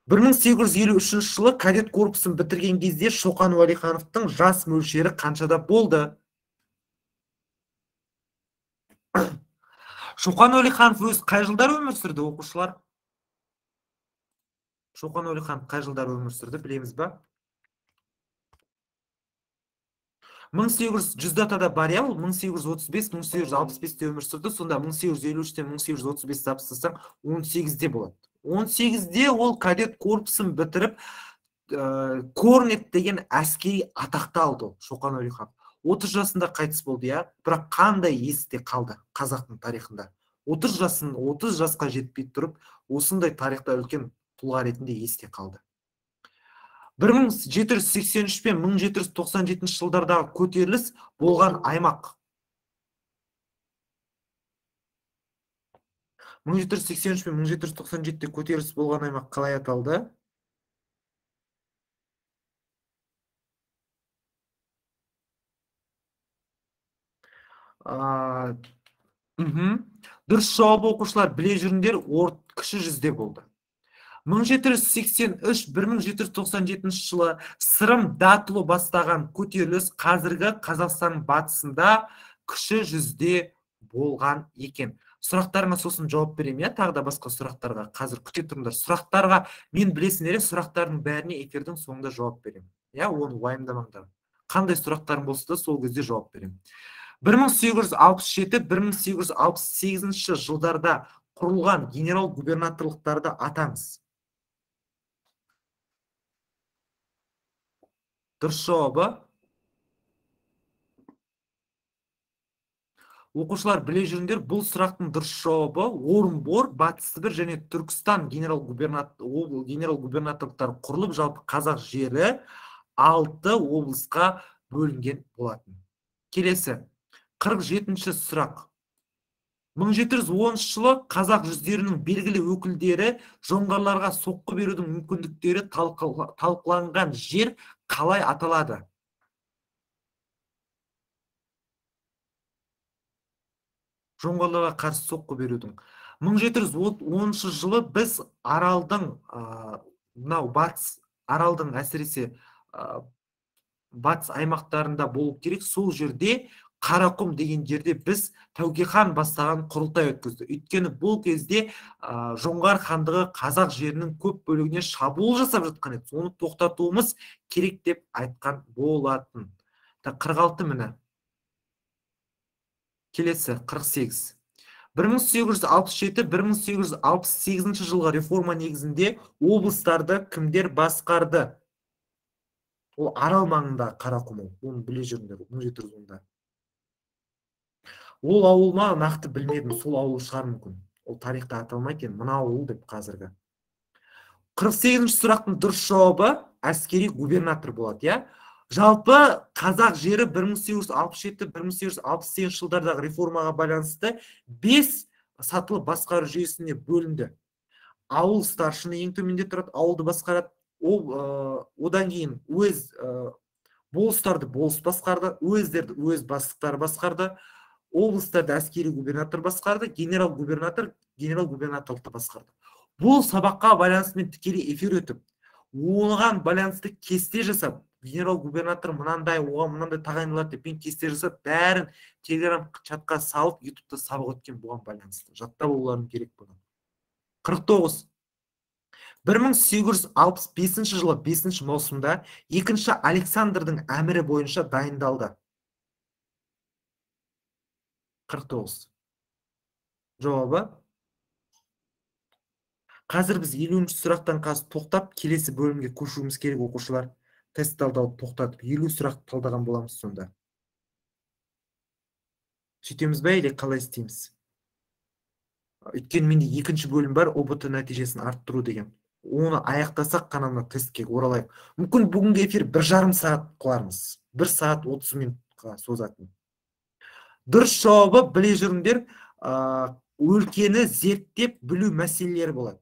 бір мың сегіз жүз елу үшінші жылы кадет корпусын бітірген кезде Шоқан Уәлихановтың жас мөлшері қаншада болды? Шоқан Уәлиханов өз қай жылдар өмір сүрді, оқушылар? Шоқан Уәлиханов қай жылдар өмір сүрді, білеміз ба? мың сегіз жүз датада бар, я, ол мың сегіз жүз отыз бес мың сегіз жүз алпыс бесте өмір сүрді, сонда мың сегіз жүз елу үштен мың сегіз жүз отыз бесті тапсырсаң он сегізде болады. он сегізде ол кадет корпусын бітіріп, Корнет деген әскери атақты алды Шоқан Уәлиханов. отыз жасында қайтыс болды, иә. Бірақ қандай есте қалды қазақтың тарихында? отыз жасын, отыз жасқа жетпей тұрып, осындай тарихта үлкен тұлға ретінде есте қалды. бір мың жеті жүз сексен үш пен мың жеті жүз тоқсан жетінші жылдардағы көтеріліс болған аймақ. мың жеті жүз сексен үш пен мың жеті жүз тоқсан жетіде көтеріліс болған аймақ қалай аталды? Дұрыс жауабы оқушылар біле жүріңдер, орт кіші жүзде болды. мың жеті жүз сексен үш - мың жеті жүз тоқсан жетінші жылы Сырым Датұлы бастаған көтеріліс қазіргі Қазақстан батысында кіші жүзде болған екен. Сұрақтарыңа сосын жауап беремін, иә, тағы да басқа сұрақтарға. Қазір күте тұрыңдар. Сұрақтарға мен білесіңдер, сұрақтардың бәріне эфирдің соңында жауап беремін. Иә, оны уайымдамаңдар. Қандай сұрақтарың болса да сол кезде жауап беремін. бір мың сегіз жүз алпыс жеті - бір мың сегіз жүз алпыс сегізінші жылдарда құрылған генерал-губернаторлықтарды атаңыз. Дұрыс жауабы. Оқушылар біле жүріңдер, бұл сұрақтың дұрыс жауабы Орынбор, Батыс Сібір және Түркістан генерал-губернаторлықтары құрылып, жалпы қазақ жері алты облысқа бөлінген болатын. Келесі, қырық жетінші сұрақ. мың жеті жүз оныншы жылы қазақ жүздерінің белгілі өкілдері жоңғарларға соққы берудің мүмкіндіктері талқыланған жер қалай аталады? Жоңғарларға қарсы соққы берудің. мың жеті жүз оныншы жылы біз Аралдың, мынау батыс, Аралдың әсіресе батыс аймақтарында болу керек, сол жерде Қарақұм деген жерде біз Тәуке хан бастаған құрылтай өткізді. Өйткені бұл кезде жоңғар хандығы қазақ жерінің көп бөлігіне шабуыл жасап жатқан еді. Оны тоқтатуымыз керек деп айтқан болатын. қырық алты міне. Келесі, қырық сегіз. бір мың сегіз жүз алпыс жеті - бір мың сегіз жүз алпыс сегізінші жылғы реформа негізінде облыстарды кімдер басқарды? Ол Арал маңында Қарақұм, оны біле жүріңдер, мың жеті жүз онда. Ол ауыл ма, нақты білмедім, сол ауыл шығар мүмкін. Ол тарихта аталмайды екен, мына ауыл деп қазіргі. қырық сегізінші сұрақтың дұрыс жауабы әскери губернатор болады, иә? Жалпы қазақ жері бір мың сегіз жүз алпыс жеті - бір мың сегіз жүз алпыс сегізінші жылдардағы реформаға байланысты бес сатылы басқару жүйесіне бөлінді. Ауыл старшыны ең төменде тұрады, ауылды басқарады. Одан кейін өз болыстарды болыс басқарды, өздерді өз бастықтары басқарды, облыстарды әскери губернатор басқарды, генерал-губернатор генерал-губернаторлықты басқарды. Бұл сабаққа байланысты мен тікелей эфир өтіп, оған байланысты кесте жасап, генерал-губернатор мынандай, оған мынандай тағайындалады деп мен кесте жасап, бәрін телеграм чатқа салып, ютубта сабақ өткен бұған байланысты. Жаттап оларың керек бұны. қырық тоғыз. бір мың сегіз жүз алпыс бесінші жылы бесінші маусымда екінші Александрдың әмірі бойынша дайындалды. қырық тоғыз. Жауабы. Қазір біз елуінші сұрақтан қазір тоқтап, келесі бөлімге көшуіміз керек оқушылар. Тест талдауды тоқтатып, елу сұрақ талдаған боламыз сонда. Сөйтеміз бе, или қалай істейміз? Өйткені менде екінші бөлім бар, о бэ тэ нәтижесін арттыру деген. Оны аяқтасақ қана мына тестке оралайық. Мүмкін бүгінгі эфир бір жарым сағат қылармыз. бір сағат отыз минутқа созатын. Дұрыс жауабы, біле жүріңдер, өлкені зерттеп білу мәселелері болады.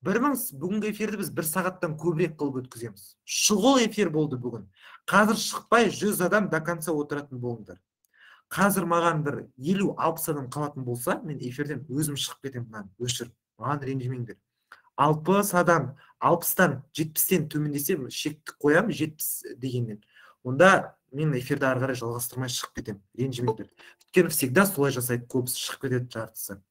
Бүгінгі эфирді біз бір сағаттан көбірек қылып өткіземіз. Шұғыл эфир болды бүгін. Қазір шықпай жүз адам до конца отыратын болыңдар. Қазір маған бір елу алпыс адам қалатын болса, мен эфирден өзім шығып кетемін, өшіріп. Маған ренжімеңдер. алпыс адам, алпыстан, жетпістен төмендесе шекті қоям, жетпіс дегеннен. Онда мен эфирді ары қарай жалғастырмай шығып кетемін. Ренжімеңдер. Өйткені всегда солай жасайды, көбісі шығып кетеді жартысы.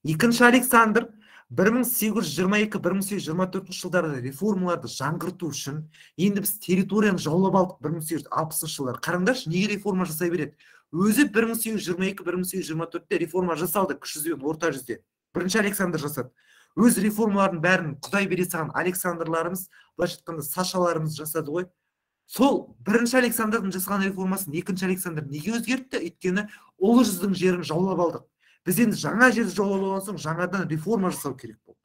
Екінші Александр бір мың сегіз жүз жиырма екі - бір мың сегіз жүз жиырма төртінші жылдарда реформаларды жаңғырту үшін енді біз территорияны жаулап алдық бір мың сегіз жүз алпысыншы жылдар. Қараңдаршы, неге реформа жасай береді? Өзі бір мың сегіз жүз жиырма екі - бір мың сегіз жүз жиырма төртте реформа жасалды, кіші жүзбен орта жүзде. Бірінші Александр жасады. Өз реформалардың бәрін Құдай бере салған Александрларымыз, былайша айтқанда Сашаларымыз жасады ғой. Сол бірінші Александрдың жасаған реформасын екінші Александр неге өзгертті? Өйткені ұлы жүздің жерін жаулап алдық. Біз енді жаңа жерді жаулап алған соң жаңадан реформа жасау керек болды.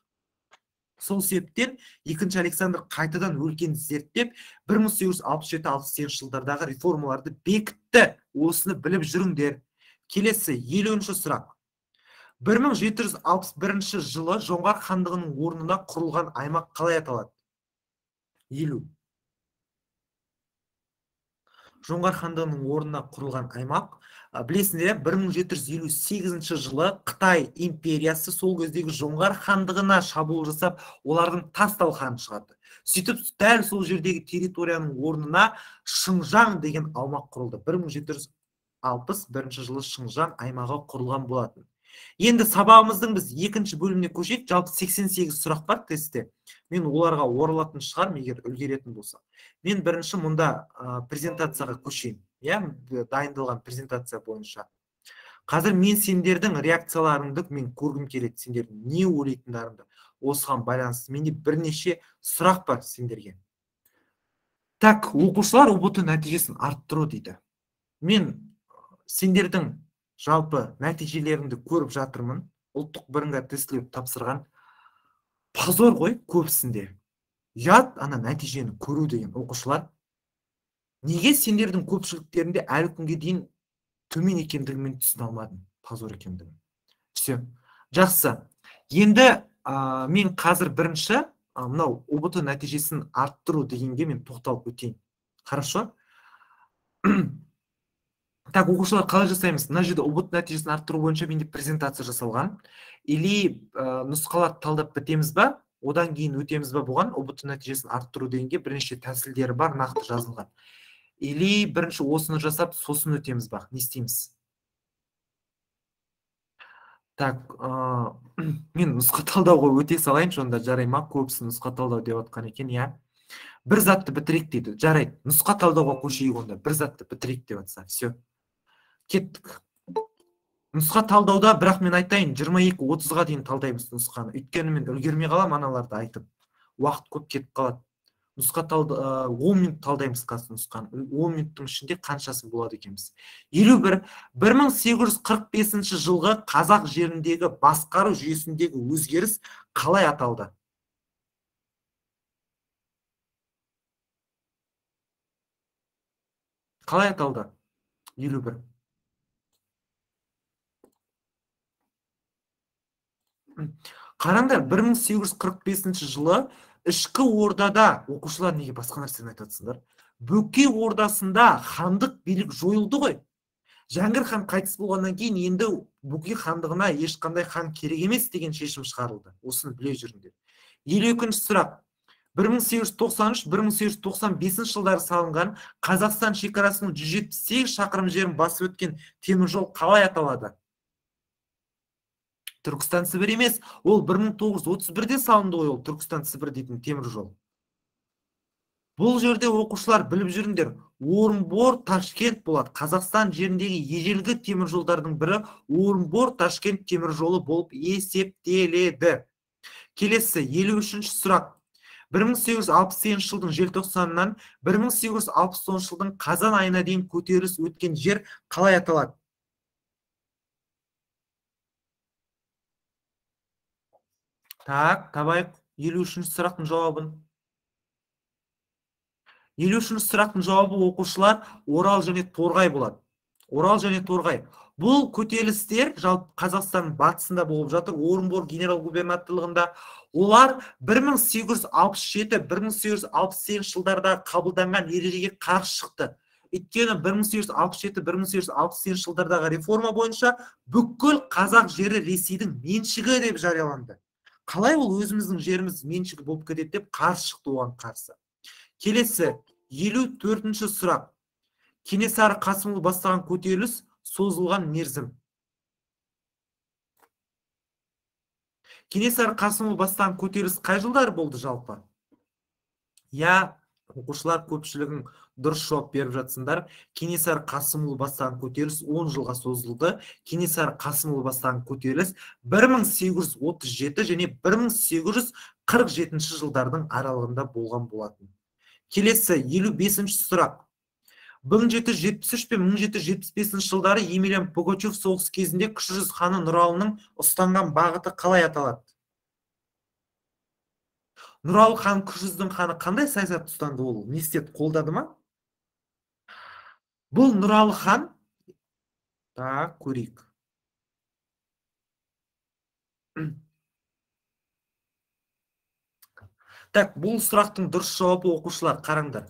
Сол себептен екінші Александр қайтадан өлкені зерттеп, бір мың сегіз жүз алпыс жеті алпыс сегізінші жылдардағы реформаларды бекітті. Осыны біліп жүріңдер. Келесі елуінші сұрақ. бір мың жеті жүз алпыс бірінші жылы Жоңғар хандығының орнына құрылған аймақ қалай аталады? елу. Жоңғар хандығының орнына құрылған аймақ, білесіңдер, бір мың жеті жүз елу сегізінші жылы Қытай империясы сол кездегі Жоңғар хандығына шабуыл жасап, олардың тас талқанын шығарды. Сөйтіп, дәл сол жердегі территорияның орнына Шыңжаң деген аумақ құрылды. бір мың жеті жүз алпыс бірінші жылы Шыңжаң аймағы құрылған болатын. Енді сабағымыздың біз екінші бөліміне көшейік. Жалпы сексен сегіз сұрақ бар тестте. Мен оларға оралатын шығармын, егер үлгеретін болса. Мен бірінші мұнда презентацияға көшейін. Я дайындалған презентация бойынша. Қазір мен сендердің реакцияларыңды мен көргім келеді, сендердің не ойлайтындарыңды. Осыған байланысты менде бірнеше сұрақ бар сендерге. Так, оқушылар ұбт нәтижесін арттыру дейді. Мен сендердің жалпы нәтижелеріңді көріп жатырмын. Ұлттық бірыңғай тестілеуді тапсырған. Позор ғой көбісінде. Ұят ана нәтижені көру деген оқушылар. Неге сендердің көпшіліктерінде әлі күнге дейін төмен екендігін мен түсіне алмадым. Позор екендігін. Все. Жақсы. Енді мен қазір бірінші мынау ұбт нәтижесін арттыру дегенге мен тоқталып өтейін. Хорошо? Так, оқушылар қалай жасаймыз? Мына жерде ұбт нәтижесін арттыру бойынша менде презентация жасалған. Или нұсқаларды талдап бітеміз ба? Одан кейін өтеміз ба бұған? ұбт нәтижесін арттыру дегенге бірнеше тәсілдері бар, нақты жазылған. Или бірінші осыны жасап, сосын өтеміз ба? Не істейміз? Так, мен нұсқа талдауға өте салайыншы, онда жарай ма? Көбісі нұсқа талдау деп отқан екен, я. Бір затты бітірейік дейді. Жарайды, нұсқа талдауға көшейік онда. Бір затты бітірейік деп отса. Все. Кеттік. Нұсқа талдауда, бірақ мен айтайын, жиырма екі отызға дейін талдаймыз нұсқаны. Өйткені мен үлгермей қалам аналарды айтып. Уақыт көп кетіп қалады. Нұсқа талды, он минут талдаймыз қазір нұсқаны. он минуттың ішінде қаншасы болады екенбіз. елу бір. бір мың сегіз жүз қырық бесінші жылғы қазақ жеріндегі басқару жүйесіндегі өзгеріс қалай аталды? Қалай аталды? елу бір. Қараңдар, бір мың сегіз жүз қырық бесінші жылы ішкі ордада, оқушылар неге басқа нәрсені айтатсыңдар? Бөкей ордасында хандық билік жойылды ғой. Жәңгір хан қайтыс болғаннан кейін енді Бөкей хандығына ешқандай хан керек емес деген шешім шығарылды. Осыны біле жүріңдер. елу екінші сұрақ. бір мың сегіз жүз тоқсан үш - бір мың сегіз жүз тоқсан бесінші жылдары салынған Қазақстан шекарасының жүз жетпіс сегіз шақырым жерін басып өткен темір жол қалай аталады? Түркістан Сібір емес, ол бір мың тоғыз жүз отыз бірде салынды ғой, ол Түркістан Сібір дейтін темір жол. Бұл жерде оқушылар біліп жүріңдер, Орынбор Ташкент болады. Қазақстан жеріндегі ежелгі темір жолдардың бірі Орынбор Ташкент темір жолы болып есептеледі. Келесі елу үшінші сұрақ. бір мың сегіз жүз алпыс сегізінші жылдың желтоқсанынан бір мың сегіз жүз алпыс тоғызыншы жылдың қазан айына дейін көтеріліс өткен жер қалай аталады? Так, табайық елу үшінші сұрақтың жауабын. елу үшінші сұрақтың жауабы оқушылар Орал және Торғай болады. Орал және Торғай. Бұл көтерілістер жалпы Қазақстанның батысында болып жатыр, Орынбор генерал-губернаторлығында. Олар бір мың сегіз жүз алпыс жеті - бір мың сегіз жүз алпыс сегізінші жылдарда қабылданған ережеге қарсы шықты. Өйткені бір мың сегіз жүз алпыс жеті - бір мың сегіз жүз алпыс сегізінші жылдардағы реформа бойынша бүкіл қазақ жері Ресейдің меншігі деп жарияланды. Қалай ол өзіміздің жеріміз меншігі болып кетеді деп қарсы шықты оған қарсы. Келесі елу төртінші сұрақ. Кенесары Қасымұлы бастаған көтеріліс созылған мерзім. Кенесары Қасымұлы бастаған көтеріліс қай жылдары болды жалпы? Я, оқушылар көпшілігің дұрыс жауап беріп жатсыңдар. Кенесары Қасымұлы бастаған көтеріліс он жылға созылды. Кенесары Қасымұлы бастаған көтеріліс бір мың сегіз жүз отыз жеті және бір мың сегіз жүз қырық жетінші жылдардың аралығында болған болатын. Келесі елу бесінші сұрақ. мың жеті жүз жетпіс үш пен мың жеті жүз жетпіс бесінші жылдары Емельян Пугачев соғыс кезінде кіші жүз ханы Нұралының ұстанған бағыты қалай аталады? Нұралы хан кіші жүздің ханы қандай саясат ұстанды, ол не істеді, қолдады ма? Бұл Нұралы хан, так, көрейік. Так, бұл сұрақтың дұрыс жауабы, оқушылар, қараңдар.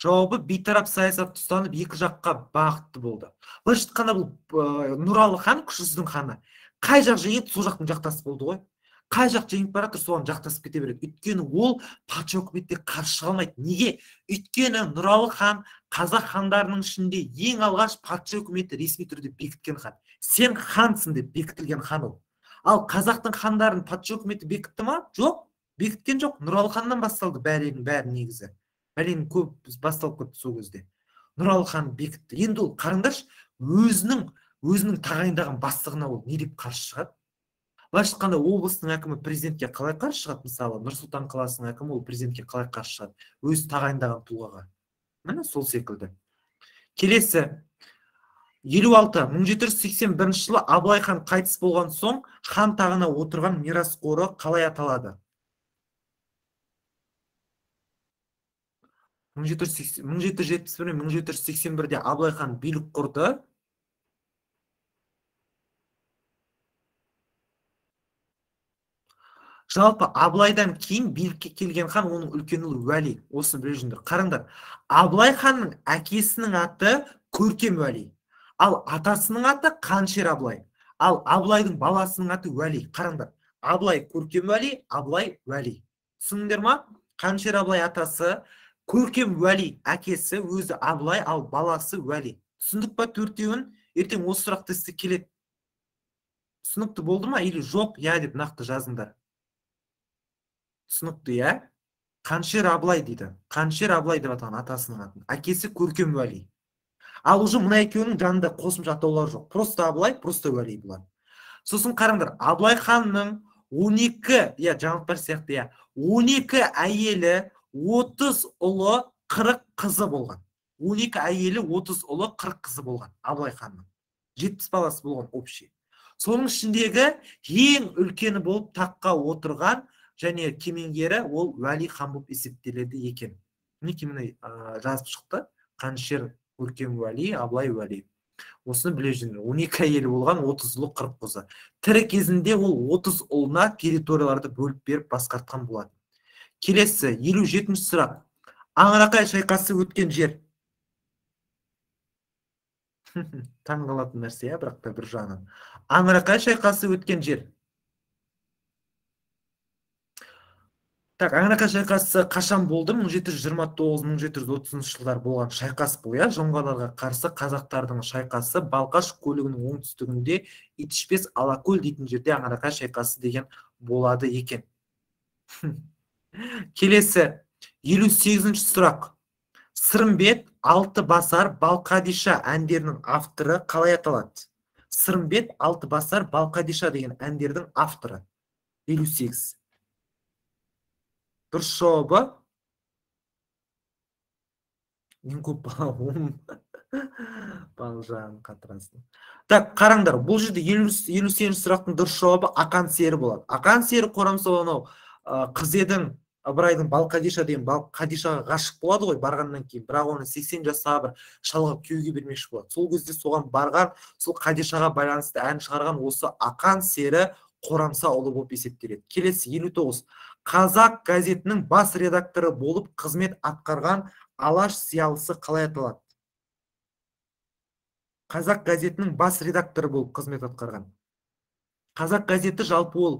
Жауабы бейтарап саясат ұстанып екі жаққа бағытты болды. Былайша айтқанда бұл Нұралы хан, кіші жүздің ханы, қай жақ жеңеді, сол жақтың жақтасы болды ғой. Қай жақ жеңіп бара жатыр, соған жақтасып кете береді. Өйткені ол патша үкіметке қарсы шыға алмайды. Неге? Өйткені Нұралы хан қазақ хандарының ішінде ең алғаш патша үкіметі ресми түрде бекіткен хан. Сен хансың деп бекітілген хан ол. Ал қазақтың хандарын патша үкіметі бекітті ма? Жоқ, бекіткен жоқ. Нұралы ханнан басталды бәрінің бәрі негізі. Бәленің көп басталып кетті сол кезде. Нұралы хан бекітті. Енді ол қараңдаршы, өзінің өзінің тағайындаған бастығына ол не деп қарсы шығады? Былайша айтқанда облыстың әкімі президентке қалай қарсы шығады? Мысалы, Нұр-Сұлтан қаласының әкімі ол президентке қалай қарсы шығады? Өз тағайындаған тұлғаға. Міне сол секілді. Келесі елу алты. мың жеті жүз сексен бірінші жылы Абылай хан қайтыс болған соң хан тағына отырған мирасқоры қалай аталады? мың жеті жүз жетпіс бір мен мың жеті жүз сексен бірде Абылай хан билік құрды. Жалпы Абылайдан кейін билікке келген хан оның үлкен ұлы Уәли. Осыны біле жүріңдер. Қараңдар, Абылай ханның әкесінің аты Көркем Уәли, ал атасының аты Қаншер Абылай, ал Абылайдың баласының аты Уәли. Қараңдар, Абылай Көркем Уәли, Абылай Уәли. Түсіндіңдер ма? Қаншер Абылай атасы, Көркем Уәли әкесі, өзі Абылай, ал баласы Уәли. Түсіндік па төртеуін? Ертең осы сұрақ тесті келеді. Түсінікті болды ма или жоқ, я деп нақты жазыңдар. Түсінікті, я? Қаншер Абылай дейді. Қаншер Абылай деп атаған атасының атын. Әкесі Көркем Уәли. Ал уже мына екеуінің жанында қосымша атаулар жоқ. Просто Абылай, просто Уәли болады. Сосын қараңдар, Абылай ханның он екі, я жаңалықтар сияқты, я, он екі әйелі, отыз ұлы, қырық қызы болған. он екі әйелі, отыз ұлы, қырық қызы болған. Абылай ханның. жетпіс баласы болған общий. Соның ішіндегі ең үлкені болып таққа отырған және кемеңгері ол Уәли хан болып есептеледі екен. Мінекей міне жазып шықты. Қаншер Көркем Уәли, Абылай Уәли. Осыны біле жүріңдер. он екі әйелі болған, отыз ұлы, қырық қызы. Тірі кезінде ол отыз ұлына территорияларды бөліп беріп басқартқан болады. Келесі елу жетінші сұрақ. Аңырақай шайқасы өткен жер. Таңғалатын нәрсе, я, бірақ та бір жағынан. Аңырақай шайқасы өткен жер. Так, Аңырақай шайқасы қашан болды? мың жеті жүз жиырма тоғыз мың жеті жүз отызыншы жылдар болған шайқас бұл, я. Жоңғарларға қарсы қазақтардың шайқасы Балқаш көлігінің оңтүстігінде Итішпес Алакөл дейтін жерде Аңырақай шайқасы деген болады екен. Келесі елу сегізінші сұрақ. Сырымбет, Алты басар, Балқадиша әндерінің авторы қалай аталады? Сырымбет, Алты басар, Балқадиша деген әндердің авторы. елу сегіз. Дұрыс жауабы? Ең көп бала балжан қатырасын. Так, қараңдар, бұл жерде елу сегізінші сұрақтың дұрыс жауабы Ақан сері болады. Ақан сері Қорамсау қыз едің Ыбырайдың Балқадиша деген Балқадишаға ғашық болады ғой барғаннан кейін, бірақ оны сексен жастағы бір шалға күйеуге бермекші болады. Сол кезде соған барған, сол Қадишаға байланысты ән шығарған осы Ақан сері Қорамсаұлы болып есептеледі. Келесі елу тоғыз. Қазақ газетінің бас редакторы болып қызмет атқарған Алаш зиялысы қалай аталады? Қазақ газетінің бас редакторы болып қызмет атқарған. Қазақ газеті жалпы ол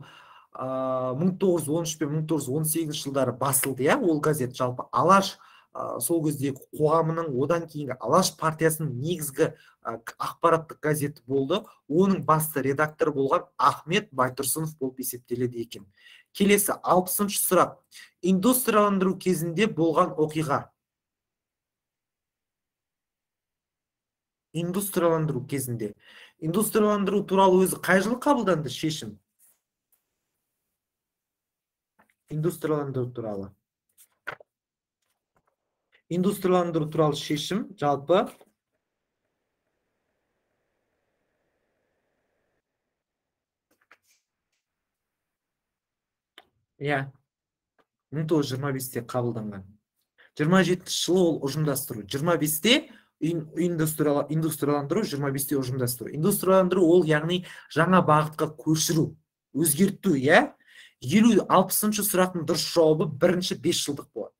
мың тоғыз жүз он үш пен мың тоғыз жүз он сегізінші жылдары басылды, я, ол газет жалпы Алаш сол кездегі қоғамының, одан кейінгі Алаш партиясының негізгі ақпараттық газеті болды. Оның басты редакторы болған Ахмет Байтұрсынов болып есептеледі екен. Келесі алпысыншы сұрақ. Индустрияландыру кезінде болған оқиға. Индустрияландыру кезінде. Индустрияландыру туралы өзі қай жылы қабылданды шешім? Индустрияландыру туралы. Индустрияландыру туралы шешім жалпы иә мың тоғыз жүз жиырма бесте қабылданған. жиырма жетінші жылы ол ұжымдастыру. жиырма бесте индустрияландыру, жиырма бесте ұжымдастыру. Индустрияландыру ол яғни жаңа бағытқа көшіру, өзгерту, иә? елу алпысыншы сұрақтың дұрыс жауабы бірінші бес жылдық болады.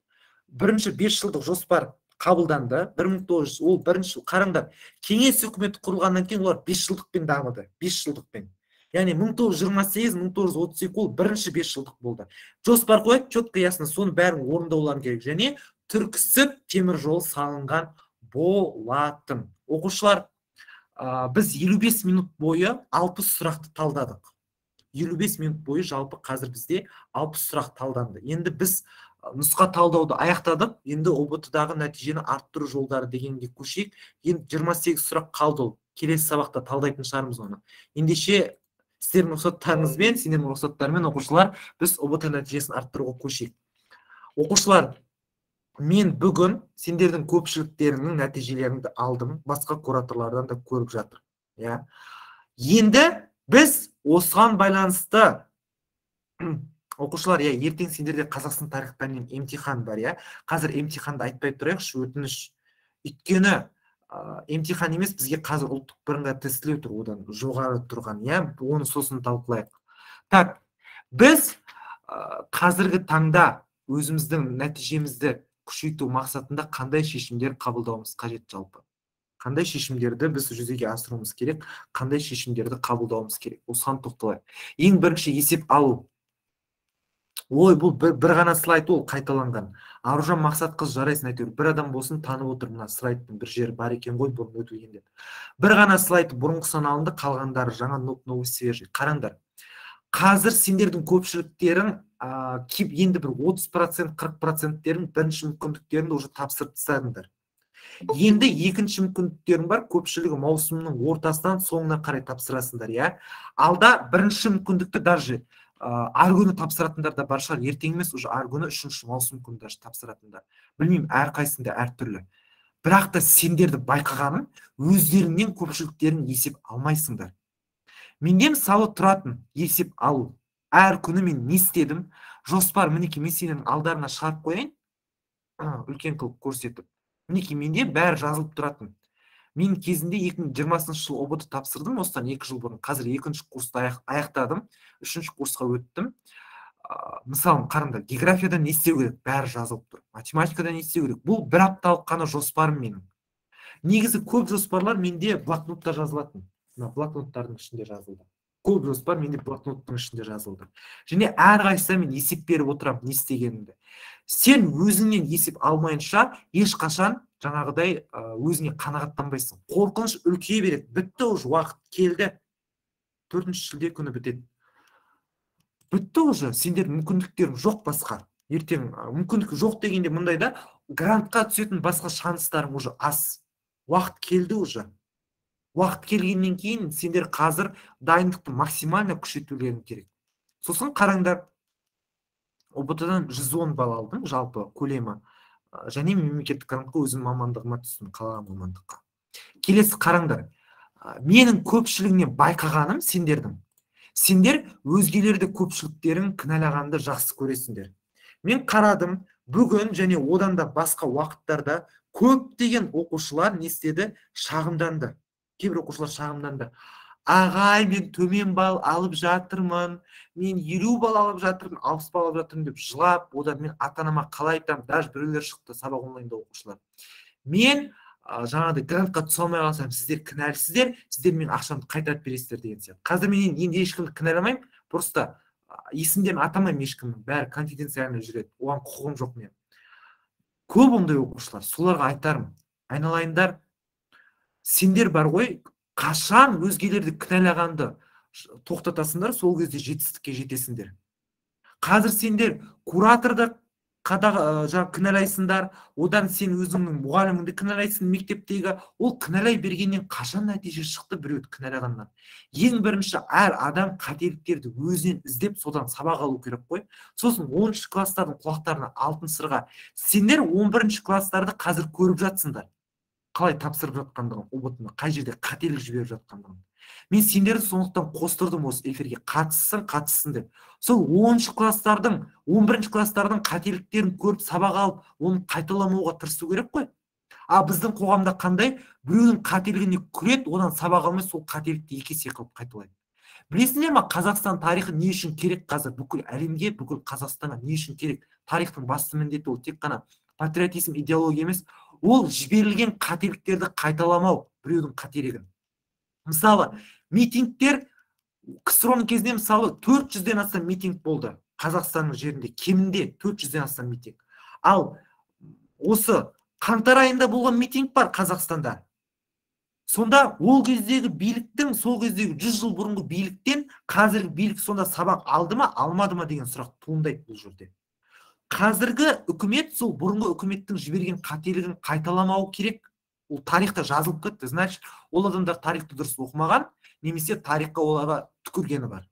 Бірінші бес жылдық жоспар қабылданды. бір мың тоғыз жүз ол бірінші қараңдар. Кеңес үкіметі құрылғаннан кейін олар бес жылдықпен дамыды. бес жылдықпен. Яғни мың тоғыз жүз жиырма сегіз мың тоғыз жүз отыз екі ол бірінші бес жылдық болды. Жоспар қойып, четко ясно, соны бәрін орындаулары керек. Және Түрксіб темір жол салынған болатын. Оқушылар, біз елу бес минут бойы алпыс сұрақты талдадық. елу бес минут бойы жалпы қазір бізде алпыс сұрақ талданды. Енді біз нұсқа талдауды аяқтадық. Енді о бэ тэ-дағы нәтижені арттыру жолдары дегенге көшейік. Енді жиырма сегіз сұрақ қалды. Келесі сабақта талдайтын шығармыз оны. Ендеше сіздердің рұқсаттарыңызбен, сендердің рұқсаттарымен оқушылар, біз о бэ тэ нәтижесін арттыруға көшейік. Оқушылар, мен бүгін сендердің көпшіліктерінің нәтижелеріңді алдым, басқа кураторлардан да көріп жатыр. Иә. Енді біз осыған байланысты оқушылар, иә, ертең сендерде Қазақстан тарих пәнінен емтихан бар, иә. Қазір емтиханды айтпай тұрайықшы, өтініш. Өйткені емтихан емес, бізге қазір ұлттық бірыңғай тестілеу тұр, одан жоғары тұрған, иә, оны сосын талқылайық. Так, біз қазіргі таңда өзіміздің нәтижемізді күшейту мақсатында қандай шешімдер қабылдауымыз қажет жалпы? Қандай шешімдерді біз жүзеге асыруымыз керек? Қандай шешімдерді қабылдауымыз керек? Осыған тоқталайық. Ең бірінші есеп алу. Ой, бұл бір, бір ғана слайд, ол қайталанған. Аружан Мақсатқызы, жарайсың, әйтеуір бір адам болсын, танып отыр, мына слайдтың бір жері бар екен ғой, бұрын өтілгенде. Бір ғана слайд бұрынғысынан алынды, қалғандары жаңа новый свежий. Қараңдар. Қазір сендердің көпшіліктерің енді бір отыз процент қырық проценттерін бірінші мүмкіндіктерін уже тапсырып тастадыңдар. Енді екінші мүмкіндіктерің бар, көпшілігі маусымның ортасынан соңына қарай тапсырасыңдар, иә. Алда бірінші мүмкіндікті даже ар күні тапсыратындар да бар шығар, ертең емес, уже ар күні үшінші маусым күні даже тапсыратындар. Білмеймін, әрқайсында әртүрлі. Бірақ та сендерді байқағаным, өздеріңнен көпшіліктерін есеп алмайсыңдар. Менде мысалы тұратын есеп алу. Әр күні мен не істедім? Жоспар, мінеки, мен сенің алдарына шығарып қояйын, үлкен қылып көрсетіп. Мінеки, менде бәрі жазылып тұратын. Мен кезінде екі мың жиырмасыншы жыл о бэ тэ тапсырдым, осыдан екі жыл бұрын. Қазір екінші курсты аяқтадым, үшінші курсқа өттім. Мысалы, қараңдар, географияда не істеу керек? Бәрі жазылып тұр. Математикада не істеу керек? Бұл бір апталық қана жоспарым менің. Негізі көп жоспарлар менде блокнотта жазылатын. Блокноттардың ішінде жазылды. Көп жоспар менде блокноттың ішінде жазылды. Және әрқайсысына мен есеп беріп отырамын, не істегенімді. Сен өзіңнен есеп алмайынша ешқашан жаңағыдай өзіңе қанағаттанбайсың. Қорқыныш үлкейе береді. Бітті, уже уақыт келді. төртінші шілде күні бітеді. Бітті уже, сендер мүмкіндіктерің жоқ басқа. Ертең мүмкіндік жоқ дегенде мұндайда грантқа түсетін басқа шанстарың уже аз. Уақыт келді уже. Уақыт келгеннен кейін сендер қазір дайындықты максимально күшейтулерің керек. Сосын қараңдар, о бэ тэ-дан жүз он балл алдым, жалпы көлемі. Және мемлекеттік грантқа өзім мамандығыма түстім, қалаған мамандыққа. Келесі қараңдар, менің көпшілігінен байқағаным сендердің. Сендер өзгелерді көпшіліктерін кінәлағанды жақсы көресіңдер. Мен қарадым, бүгін және одан да басқа уақыттарда көптеген оқушылар не істеді? Шағымданды. Кейбір оқушылар шағымданды. Ағай, мен төмен балл алып жатырмын, мен елу балл алып жатырмын, алпыс балл алып жатырмын деп жылап, одан мен ата-анама қалай айтамын, даже біреулер шықты сабақ онлайнда оқушылар. Мен жаңағыдай грантқа түсе алмай қалсам, сіздер кінәлісіздер, сіздер мен ақшамды қайтарып бересіздер деген сияқты. Қазір мен енді ешкімді кінәламаймын, просто есімдерін атамаймын ешкімнің, бәрі конфиденциально жүреді, оған құқығым жоқ мен. Көп ондай оқушылар, соларға айтарым, айналайындар, сендер бар ғой, қашан өзгелерді кінәлағанды тоқтатасыңдар, сол кезде жетістікке жетесіңдер. Қазір сендер кураторда қада жаңа кінәлайсыңдар, одан сен өзіңнің мұғаліміңді кінәлайсың мектептегі. Ол кінәлай бергеннен қашан нәтиже шықты біреуді кінәлағаннан? Ең бірінші, әр адам қателіктерді өзінен іздеп, содан сабақ алу керек қой. Сосын оныншы класстардың құлақтарына алтын сырға. Сендер он бірінші класстарды қазір көріп жатсыңдар. Қалай тапсырып жатқандығын, ұбт-ны қай жерде қателік жіберіп жатқандығын. Мен сендерді сондықтан қостырдым осы эфирге, қатыссын, қатыссын деп. Сол оныншы класстардың, он бірінші класстардың қателіктерін көріп сабақ алып, оны қайталамауға тырысу керек қой. А біздің қоғамда қандай? Біреудің қателігіне күледі, одан сабақ алмай сол қателікті екі есе қылып қайталайды. Білесіңдер ме, Қазақстан тарихы не үшін керек қазір? Бүкіл әлемге, бүкіл Қазақстанға не үшін керек? Тарихтың басты міндеті ол тек қана патриотизм, идеология емес, ол жіберілген қателіктерді қайталамау, біреудің қателігін. Мысалы, митингтер КСРОның кезінде мысалы төрт жүзден астам митинг болды Қазақстанның жерінде, кемінде төрт жүзден астам митинг. Ал осы қаңтар айында болған митинг бар Қазақстанда. Сонда ол кездегі биліктің, сол кездегі жүз жыл бұрынғы биліктен қазіргі билік сонда сабақ алды ма, алмады ма деген сұрақ туындайды бұл жерде. Қазіргі үкімет сол бұрынғы үкіметтің жіберген қателігін қайталамау керек. Ол тарихта жазылып кетті. Значит, ол адамдар тарихты дұрыс оқымаған, немесе тарихқа оларға түкіргені бар.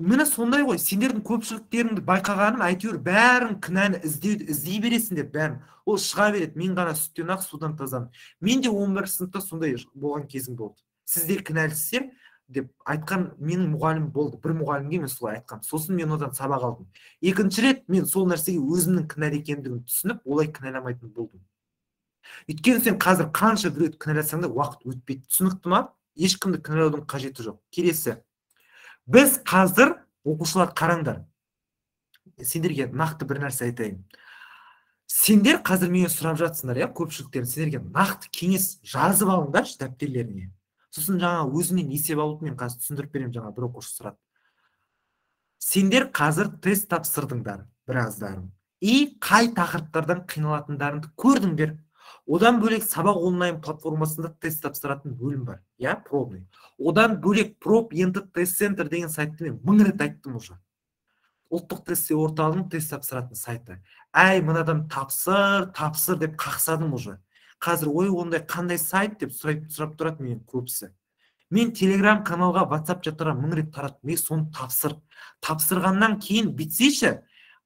Міне сондай ғой, сендердің көпшіліктеріңді байқағаным, әйтеуір бәрін кінәні іздей бересіңдер, бәрін. Ол шыға береді, мен ғана сүттен ақ судан тазамын. Мен де он бірінші сыныпта сондай болған кезім болды. Сіздер кінәлісіздер деп айтқан менің мұғалім болды. Бір мұғалімге мен солай айтқан. Сосын мен одан сабақ алдым. Екінші рет мен сол нәрсеге өзімнің кінәлі екендігін түсініп, олай кінәламайтын болдым. Өйткені сен қазір қанша біреуді кінәласаң да уақыт өтпейді. Түсінікті ма? Ешкімді кінәлаудың қажеті жоқ. Келесі. Біз қазір, оқушылар қараңдар. Сендерге нақты бір нәрсе айтайын. Сендер қазір менен сұрап жатсыңдар, я, көпшіліктерін, сендерге нақты кеңес жазып алыңдаршы дәптертеріңе. Сосын жаңа өзінен есеп алып мен қазір түсіндіріп беремін, жаңа бір оқушы сұрады. Сендер қазір тест тапсырдыңдар, біраздарың. И қай тақырыптардан қиналатындарыңды көрдіңдер. Одан бөлек сабақ онлайн платформасында тест тапсыратын бөлім бар, я, пробный. Одан бөлек проб енді тест центр деген сайтты мен мың рет айттым уже. Ұлттық тест орталығының тест тапсыратын сайты. Әй, мынадан тапсыр, тапсыр деп қақсадым уже. Қазір ой, ондай қандай сайт деп сұрап тұрады мен көбісі. Мен телеграм каналға, WhatsApp жаттыра мың рет тараттым. Мен соны тапсыр. Тапсырғаннан кейін бітсейші,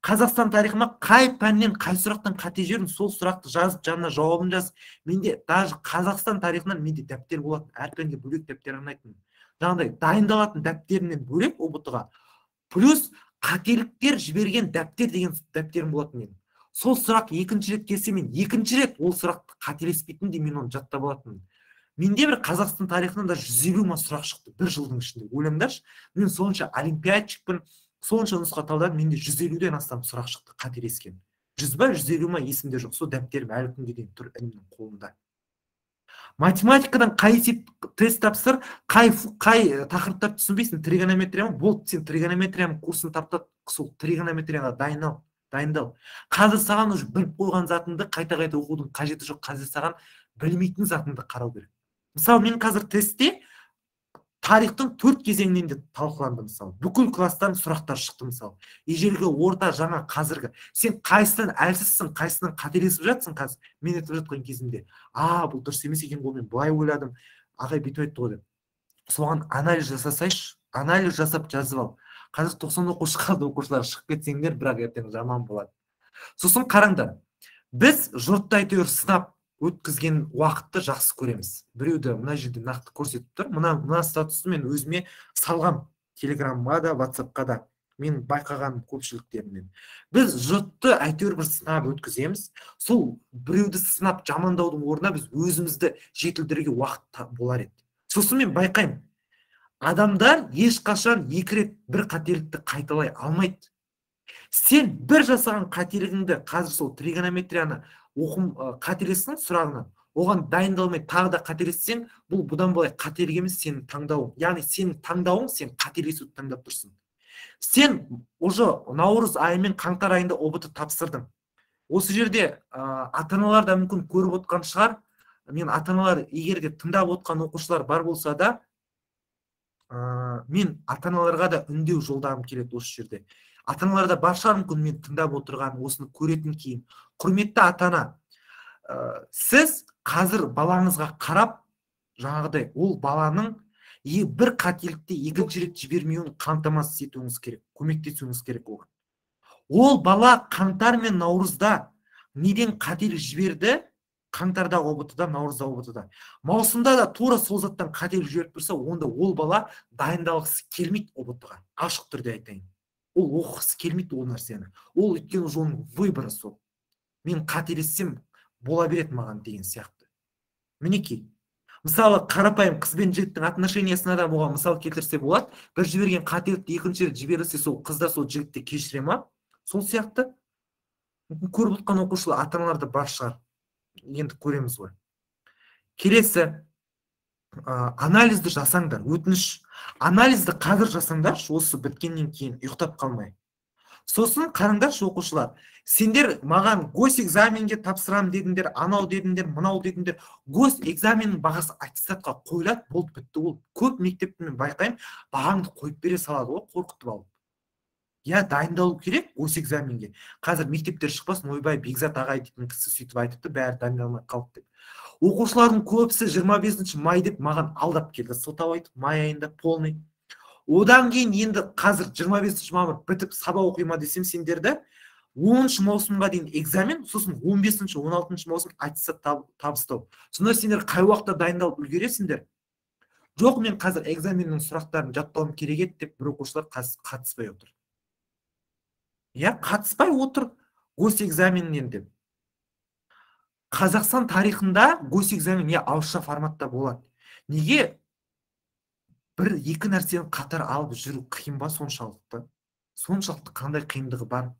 Қазақстан тарихыма қай пәннен, қай сұрақтан қате жерін, сол сұрақты жазып, жанына жауабын жаз. Менде даже Қазақстан тарихынан менде дәптер болатын, әр пәнге бөлек дәптер арнайтын. Жаңағыдай дайындалатын дәптерінен бөлек ұбт-ға. Плюс қателіктер жіберген дәптер деген дәптерім болатын мен. Сол сұрақ екінші рет келсе, мен екінші рет ол сұрақты қателеспейтін де мен оны жаттап алатын. Менде бір Қазақстан тарихынан да жүз елу ма сұрақ шықты бір жылдың ішінде. Ойлаңдаршы, мен сонша олимпиадчикпін, сонша нұсқа талдадым, менде жүз елуден астам сұрақ шықты қателескен. жүз ба, жүз елу ма есімде жоқ. Сол дәптерім әлі күнге дейін тұр інімнің қолында. Математикадан қай есеп тест тапсыр, қай қай тақырыптар түсінбейсің, тригонометрия ма? Болды, сен тригонометрияның курсын таптат, сол тригонометрияға дайындал, дайындал. Қазір саған уже біліп қойған затыңды қайта-қайта оқудың қажеті жоқ. Қазір саған білмейтін затыңды қарау керек. Мысалы, мен қазір тестте тарихтың төрт кезеңінен де талқыланды, мысалы. Бүкіл класстан сұрақтар шықты, мысалы. Ежелгі, орта, жаңа, қазіргі. Сен қайсынан әлсізсің, қайсынан қателесіп жатсың қазір? Мен айтып жатқан кезімде, а, бұл дұрыс емес екен ғой, мен былай ойладым, ағай бүйтіп айтты ғой деп. Соған анализ жасасайшы, анализ жасап жазып ал. Қазір тоқсан оқушы қалды, оқушылар шығып кетсеңдер, бірақ ертең жаман болады. Сосын қараңдар. Біз жұртты әйтеуір сынап өткізген уақытты жақсы көреміз. Біреуді мына жерде нақты көрсетіп тұр. Мына мына статусты мен өзіме салғам. Телеграмға да, WhatsAppқа да. Мен байқаған көпшіліктерінен. Біз жұртты әйтеуір бір сынап өткіземіз. Сол біреуді сынап жамандаудың орнына біз өзімізді жетілдіруге уақыт болар еді. Сосын мен байқаймын. Адамдар ешқашан екі рет бір қателікті қайталай алмайды. Сен бір жасаған қателігіңді, қазір сол тригонометрияны оқым қателестің сұрағынан, оған дайындалмай тағы да қателессең, бұл бұдан былай қателік емес, сенің таңдауың. Яғни сенің таңдауың, сен қателесуді таңдап тұрсың. Сен уже наурыз айы мен қаңтар айында ұбт тапсырдың. Осы жерде ата-аналар да мүмкін көріп отқан шығар. Мен ата-аналар егер де тыңдап отқан оқушылар бар болса да, мен ата-аналарға да үндеу жолдағым келеді осы жерде. ата аналарда бар шығар мүмкін мен тыңдап отырған, осыны көретін кейін. Құрметті ата ана, сіз қазір балаңызға қарап, жаңағыдай ол баланың бір қателікті екінші рет жібермеуін қамтамасыз етуіңіз керек, көмектесуіңіз керек оған. Ол бала қаңтар мен наурызда неден қателік жіберді? Қаңтардағы о бэ тэ-да, наурызда о бэ тэ-да. Маусымда да тура сол заттан қателік жіберіп тұрса, онда ол бала дайындалғысы келмейді о бэ тэ-ға. Ашық түрде айтайын. Ол оқығысы келмейді ол нәрсені. Ол өйткені оның выборы сол. Мен қателессем бола береді маған деген сияқты. Мінекей. Мысалы, қарапайым қыз бен жігіттің отношениясына да бұған мысал келтірсе болады. Бір жіберген қателікті екінші рет жіберілсе, сол қыз да сол жігітті кешіре ма? Сол сияқты. Көріп отқан оқушылар, ата-аналарда бар шығар. Енді көреміз ғой. Келесі, анализді жасаңдар, өтініш. Анализді қазір жасаңдаршы, осы біткеннен кейін ұйықтап қалмай. Сосын қараңдаршы оқушылар, сендер маған госэкзаменге тапсырам дедіңдер, анау дедіңдер, мынау дедіңдер. Госэкзаменнің бағасы аттестатқа қойылады, болды, бітті. Ол көп мектепті мен байқаймын, бағаңды қойып бере салады, ол қорқытып алып. Я дайындалу керек госэкзаменге. Қазір мектептер шықпасын, ойбай, Бекзат ағай дейтін кісі сөйтіп айтыпты, бәрі дайындалмай қалды деп. Оқушылардың көбісі жиырма бесінші май деп маған алдап келді. Сылтау айтып, май айында полный. Одан кейін енді қазір жиырма бесінші мамыр бітіп сабақ оқима десем сендерді, оныншы маусымға дейін экзамен, сосын он бесінші он алтыншы маусым аттестат табыстау. Сонда сендер қай уақытта дайындалып үлгересіңдер? Жоқ, мен қазір экзаменнің сұрақтарын жаттауым керек еді деп бір оқушылар қатыспай отыр. Я қатыспай отыр госэкзаменнен деп. Қазақстан тарихында госэкзамен не ауызша форматта болады. Неге бір екі нәрсені қатар алып жүру қиын ба соншалықты? Соншалықты қандай қиындығы бар?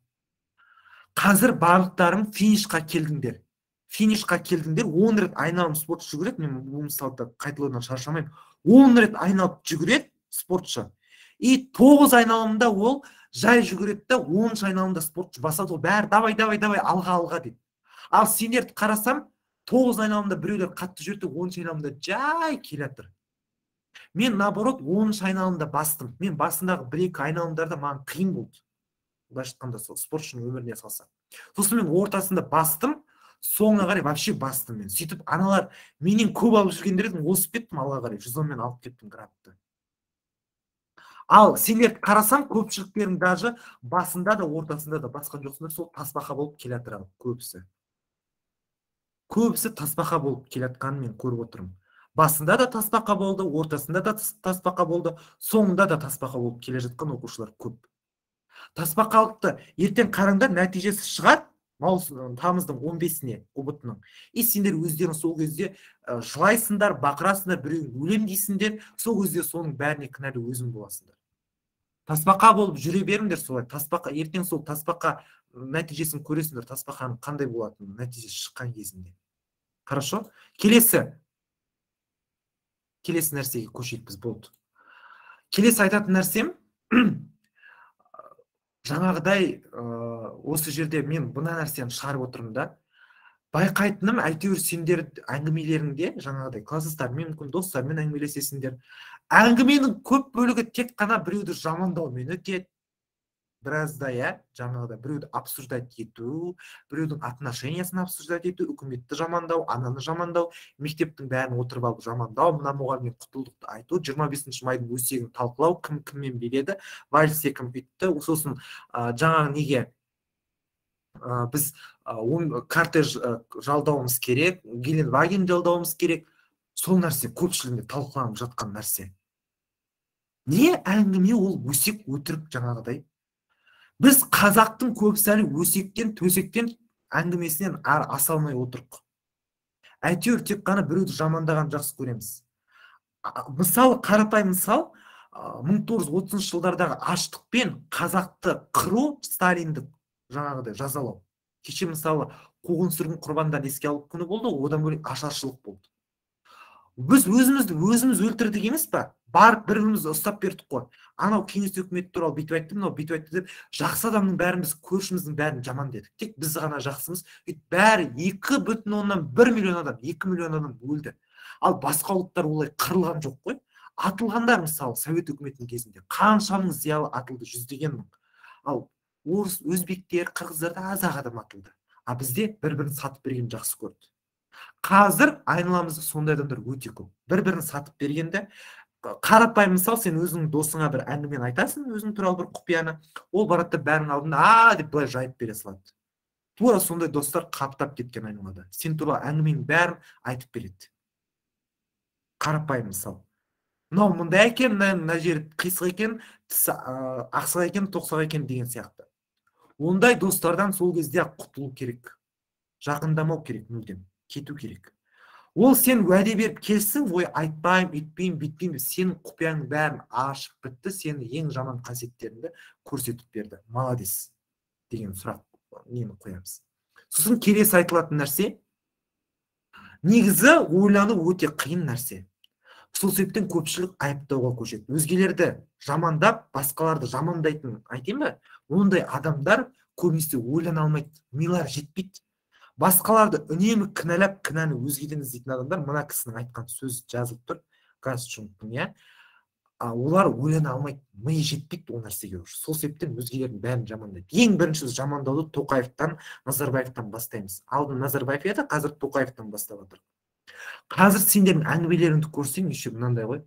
Қазір барлықтарың финишқа келдіңдер. Финишқа келдіңдер, он рет айналым спортшы жүгіреді, мен бұл мысалда қайталаудан шаршамаймын. он рет айналып жүгіреді спортшы. И тоғыз айналымда ол жай жүгіреді да, оныншы айналымда спортшы басады, ол бәрі давай, давай, давай, алға, алға дейді. Ал сендерді қарасам, тоғыз айналымда біреулер қатты жүрді, оныншы айналымда жай келатыр. Мен наоборот оныншы айналымда бастым. Мен басындағы бір-екі айналымдарда маған қиын болды. Былайша айтқанда сол спортшының өміріне салсам. Сосын мен ортасында бастым, соңына қарай вообще бастым мен. Сөйтіп аналар менен көп алып жүргендердің осып кеттім, алға қарай жүз онмен алып кеттім градты. Ал сендерді қарасам, көпшіліктерің даже басында да ортасында да басқан жоқсыңдар, сол тасбақа болып келатыр көбісі. Көбісі тасбақа болып келатқанын мен көріп отырмын. Басында да тасбақа болды, ортасында да тасбақа болды, соңында да тасбақа болып келе жатқан оқушылар көп. Тасбақалықты ертең қараңдар, нәтижесі шығады тамыздың он бесіне о бэ тэ-нің. И сендер өздерің сол кезде жылайсыңдар, бақырасыңдар, біреуін өлем дейсіңдер, сол кезде соның бәріне кінәлі өзің боласыңдар. Тасбақа болып жүре беріңдер солай. Тасбақа, ертең сол тасбақа нәтижесін көресіңдер, тасбақаның қандай болатынын нәтижесі шыққан кезінде. Хорошо? Келесі. Келесі нәрсеге көшейік біз, болды. Келесі айтатын нәрсем, жаңағыдай осы жерде мен бұна нәрсені шығарып отырмын да, байқайтыным, әйтеуір сендер әңгімелеріңде, жаңағыдай класстастармен, мүмкін достармен әңгімелесесіңдер. Әңгіменің көп бөлігі тек қана біреуді жамандаумен өтеді. Біразда, я, жаңағыдай біреуді обсуждать ету, біреудің отношениясын обсуждать ету, үкіметті жамандау, ананы жамандау, мектептің бәрін отырып алып жамандау, мына мұғалімге құтылдықты айту, жиырма бесінші майдың өсегін талқылау, кім кіммен береді, вальсте кім бүйтті, сосын жаңағы неге біз кортеж жалдауымыз керек, Геленваген жалдауымыз керек, сол нәрсе көпшілігінде талқыланып жатқан нәрсе. Не әңгіме ол өсек өтірік жаңағыдай. Біз қазақтың көбісі әлі өсектен, төсектен әңгімесінен аса алмай отырық. Әйтеуір тек қана біреуді жамандаған жақсы көреміз. Мысалы, қарапайым мысал, мың тоғыз жүз отызыншы жылдардағы аштықпен қазақты қыру, Сталинді жаңағыдай жазалау. Кеше мысалы қуғын сүргін құрбандарын еске алу күні болды, одан бөлек ашаршылық болды. Біз өзімізді өзіміз өлтірдік емес па? Барып бірімізді ұстап бердік қой. Анау кеңес өкіметі туралы бүйтіп айтты, мынау бүйтіп айтты деп, жақсы адамның бәріміз, көршіміздің бәрін жаман дедік. Тек біз ғана жақсымыз. Бәрі екі бүтін оннан бір миллион адам, екі миллион адам өлді. Ал басқа ұлттар олай қырылған жоқ қой. Атылғандар мысалы Совет өкіметінің кезінде қаншаның зиялы атылды, жүздеген мың. Ал орыс, өзбектер, қырғыздарда аз-ақ адам атылды. А бізде бір-бірін сатып берген жақсы көрді. Қазір айналамызда сондай адамдар өте көп. Бір-бірін сатып бергенде, қарапайым мысал, сен өзіңнің досыңа бір әңгімені айтасың, өзің туралы бір құпияны, ол барады да бәрінің алдында а деп былай жайып бере салады. Тура сондай достар қаптап кеткен айналада. Сен туралы әңгіменің бәрін айтып береді. Қарапайым мысал. Мынау мындай екен, мына жері қисық екен, ақсақ екен, тоқсақ екен деген сияқты. Ондай достардан сол кезде құтылу керек. Жақындамау керек, мүлдем кету керек. Ол сен уәде беріп келсің, ой айтпайым, үйтпеймін, бүйтпеймін, сенің құпияның бәрін ашып бітті, сені ең жаман қасиеттеріңді көрсетіп берді. Молодец деген сұрақ нені қоямыз. Сосын келесі айтылатын нәрсе, негізі ойлану өте қиын нәрсе. Сол себептен көпшілік айыптауға көшеді. Өзгелерді жамандап, басқаларды жамандайтын айтайын ба? Ондай адамдар көбінесе ойлана алмайды, милар жетпейді. Басқаларды үнемі кінәлап, кінәні өзгеден іздейтін адамдар, мына кісінің айтқан сөз жазылып тұр, Гасчунктың, иә. Олар ойлана алмайды, миы жетпейді ол нәрсеге. Сол себептен өзгелердің бәрін жамандайды. Ең бірінші жамандауды Тоқаевтан, Назарбаевтан бастаймыз. Алдын Назарбаев еді, қазір Тоқаевтан бастап жатыр. Қазір сендердің әңгімелеріңді көрсең, еще мынандай ғой.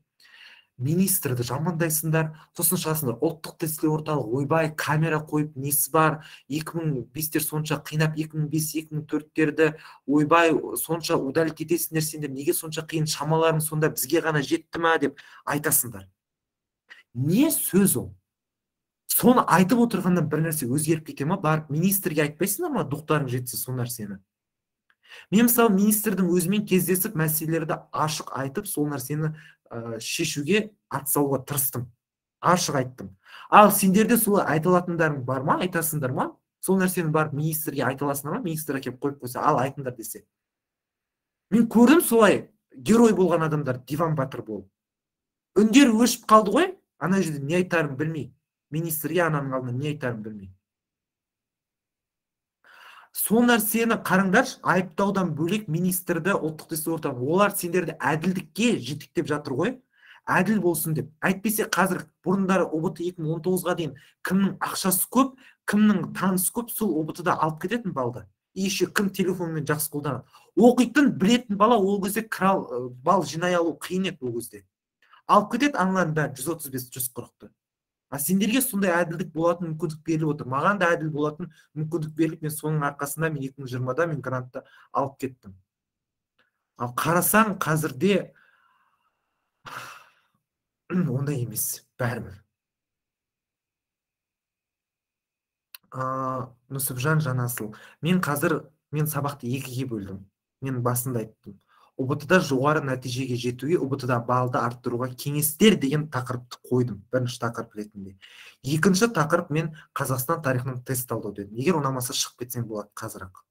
Министрді жамандайсыңдар, сосын шығасыңдар, ұлттық тестілеу орталық, ойбай, камера қойып, несі бар, екі мың бестер сонша қинап, екі мың бес екі мың төрттерді, ойбай, сонша удалить етесіңдер сендер, неге сонша қиын, шамаларың сонда бізге ғана жетті ма деп айтасыңдар. Не сөз ол? Соны айтып отырғаннан бір нәрсе өзгеріп кете ма? Барып министрге айтпайсыңдар ма, дұқтарың жетсе сол нәрсені? Мен мысалы министрдің өзімен кездесіп, мәселелерді ашық айтып, сол нәрсені шешуге атсалуға тырыстым. Ашық айттым. Ал сендерде солай айтылатындарың бар ма, айтасыңдар ма? Сол нәрсені барып министрге айтыласыңдар ма? Министр әкеп қойып қойса, ал айтыңдар десе. Мен көрдім солай герой болған адамдар, диван батыр болып. Үндер өшіп қалды ғой, ана жерде не айтарын білмей. Министрге ананың алдында не айтарын білмей. Сол нәрсені қараңдаршы, айыптаудан бөлек министрді, ұлттық тестілеу орталығы, олар сендерді әділдікке жетектеп жатыр ғой, әділ болсын деп. Әйтпесе қазір бұрындары О Б Т екі мың он тоғызға дейін кімнің ақшасы көп, кімнің танысы көп, сол О Б Т-да алып кететін балды. Еще кім телефонмен жақсы қолданады. Оқитын, білетін бала ол кезде крал бал жинай алу қиын еді ол кезде. Алып кетеді аналардың бәрі жүз отыз бес жүз қырықты. А сендерге сондай әділдік болатын мүмкіндік беріліп отыр. Маған да әділ болатын мүмкіндік беріліп, мен соның арқасында мен екі мың жиырмада мен грантты алып кеттім. Ал қарасаң қазірде ондай емес, бәрібір. Нүсіпжан Жанасыл. Мен қазір, мен сабақты екіге бөлдім. Мен басында айттым. О Б Т-да жоғары нәтижеге жетуге, О Б Т-да балды арттыруға кеңестер деген тақырыпты қойдым. Бірінші тақырып ретінде. Екінші тақырып мен Қазақстан тарихынан тест талдау дедім. Егер ұнамаса шығып кетсең болады қазір-ақ.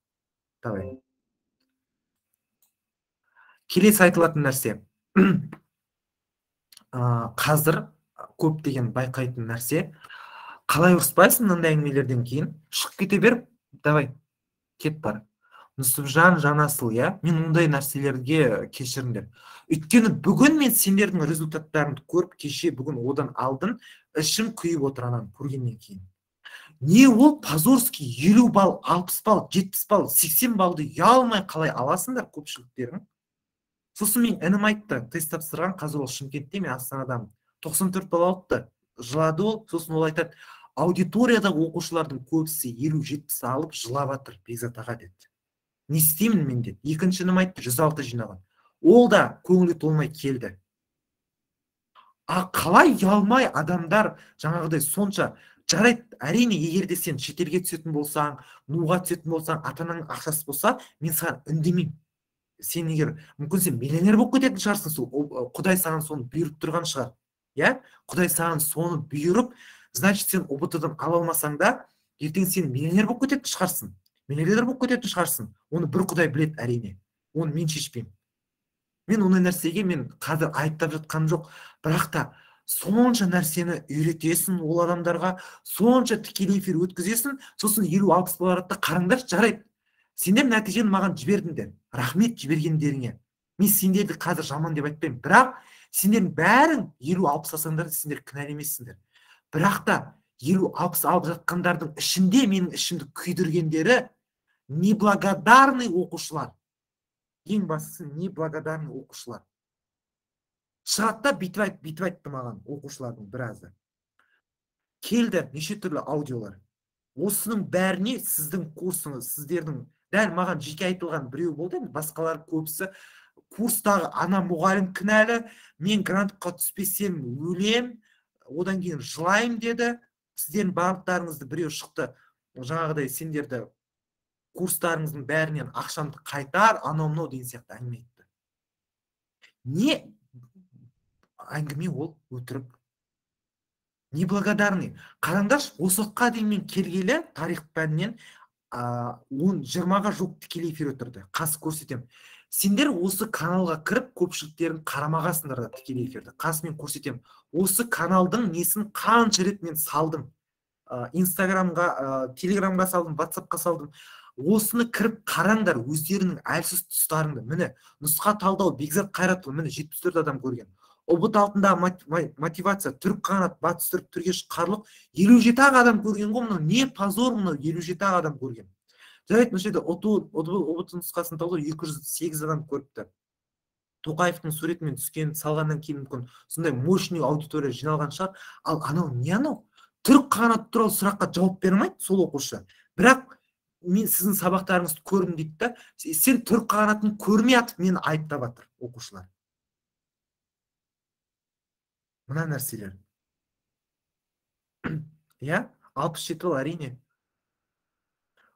Давай. Келесі айтылатын нәрсе. Қазір көптеген байқайтын нәрсе. Қалай ұрыспайсың мынандай әңгімелерден кейін? Шығып кете бер, давай, кет бар. Нүсіпжан Жанасыл, я, мен ондай нәрселерге кешіріңдер. Өйткені бүгін мен сендердің результаттарыңды көріп, кеше бүгін одан алдын, ішім күйіп отыранан көргеннен кейін. Не ол Позорский елу балл, алпыс балл, жетпіс балл, сексен баллды ұялмай қалай аласыңдар көпшіліктерің? Сосын мен інім айтты, тест тапсырған, қазір ол Шымкентте, мен Астанадамын. тоқсан төрт балл алыпты. Жылады ол, сосын ол айтады, аудиториядағы оқушылардың көбісі елу жетпіс алып жылап жатыр Бекзат аға деді. Не істеймін мен деді. Екіншінім айтты, жүз алты жинаған. Ол да көңілі толмай келді. А қалай ұялмай адамдар жаңағыдай сонша жарайды, әрине, егер де сен шетелге түсетін болсаң, нуға түсетін болсаң, атаның ақшасы болса, мен саған үндемеймін. Сен егер мүмкін сен миллионер болып кететін шығарсың, сол Құдай саған соны бұйырып тұрған шығар. Я? Құдай саған соны бұйырып, значит, сен О Б Т-дан ала алмасаң да, ертең сен миллионер болып кететін шығарсың. Миллионер болып кететін шығарсың. Оны бір Құдай біледі, әрине. Оны мен шешпеймін. Мен ондай нәрсеге мен қазір айыптап жатқаным жоқ. Бірақ та сонша нәрсені үйретесің ол адамдарға, сонша тікелей эфир өткізесің, сосын елу алпыс барады да қараңдар, жарайды. Сендер нәтижені маған жібердіңдер. Рахмет жібергендеріңе. Мен сендерді қазір жаман деп айтпаймын. Бірақ сендердің бәрің елу алпыс асаңдар, сендер кінәлі емессіңдер. Бірақ та елу алпыс алып жатқандардың ішінде менің ішімді күйдіргендері неблагодарный оқушылар. Ең бастысы неблагодарный оқушылар. Шығады да бүйтіп айт, бүйтіп айтты маған оқушылардың біразы. Келді неше түрлі аудиолар. Осының бәріне сіздің курсыңыз, сіздердің, дәл маған жеке айтылған біреу болды, басқалар көбісі курстағы ана мұғалім кінәлі, мен грантқа түспесем өлем, одан кейін жылайым деді. Сіздердің барлықтарыңызды біреу шықты, жаңағыдай сендерді курстарыңыздың бәрінен ақшамды қайтар, анау мынау деген сияқты әңгіме айтты. Не әңгіме ол өтірік. Неблагодарный. Қараңдаршы, осы уақытқа дейін мен келгелі тарих пәнінен жиырмаға жоқ тікелей эфир өтірді. Қас көрсетем. Сендер осы каналға кіріп көпшіліктерін қарамағасыңдар да тікелей эфирді. Қас мен көрсетем. Осы каналдың несін қанша рет мен салдым. Инстаграмға, телеграмға салдым, ватсапқа салдым. Осыны кіріп қараңдар, өздерінің әлсіз тұстарыңды. Міне, нұсқа талдау Бекзат Қайратұлы, міне жетпіс төрт адам көрген. ұбт алтындағы мотивация, түрік қанат, батыс түрік, түрге шыққарлық елу жеті адам көрген ғой. Мынау не позор, мынау елу жеті адам көрген. Жарайды, мына жерде ұбт нұсқасын талдау екі жүз сегіз адам көріпті. Тоқаевтың суретімен түскен, салғаннан кейін мүмкін сондай мощный аудитория жиналған шығар. Ал анау не анау? Түрік қанат туралы сұраққа жауап бермейді сол оқушы. Бірақ мен сіздің сабақтарыңызды көрдім дейді да, сен түрік қанатын көрмей атып мені айыптап жатыр оқушылар. Мына нәрселер. Я, алпыс жеті жыл әрине.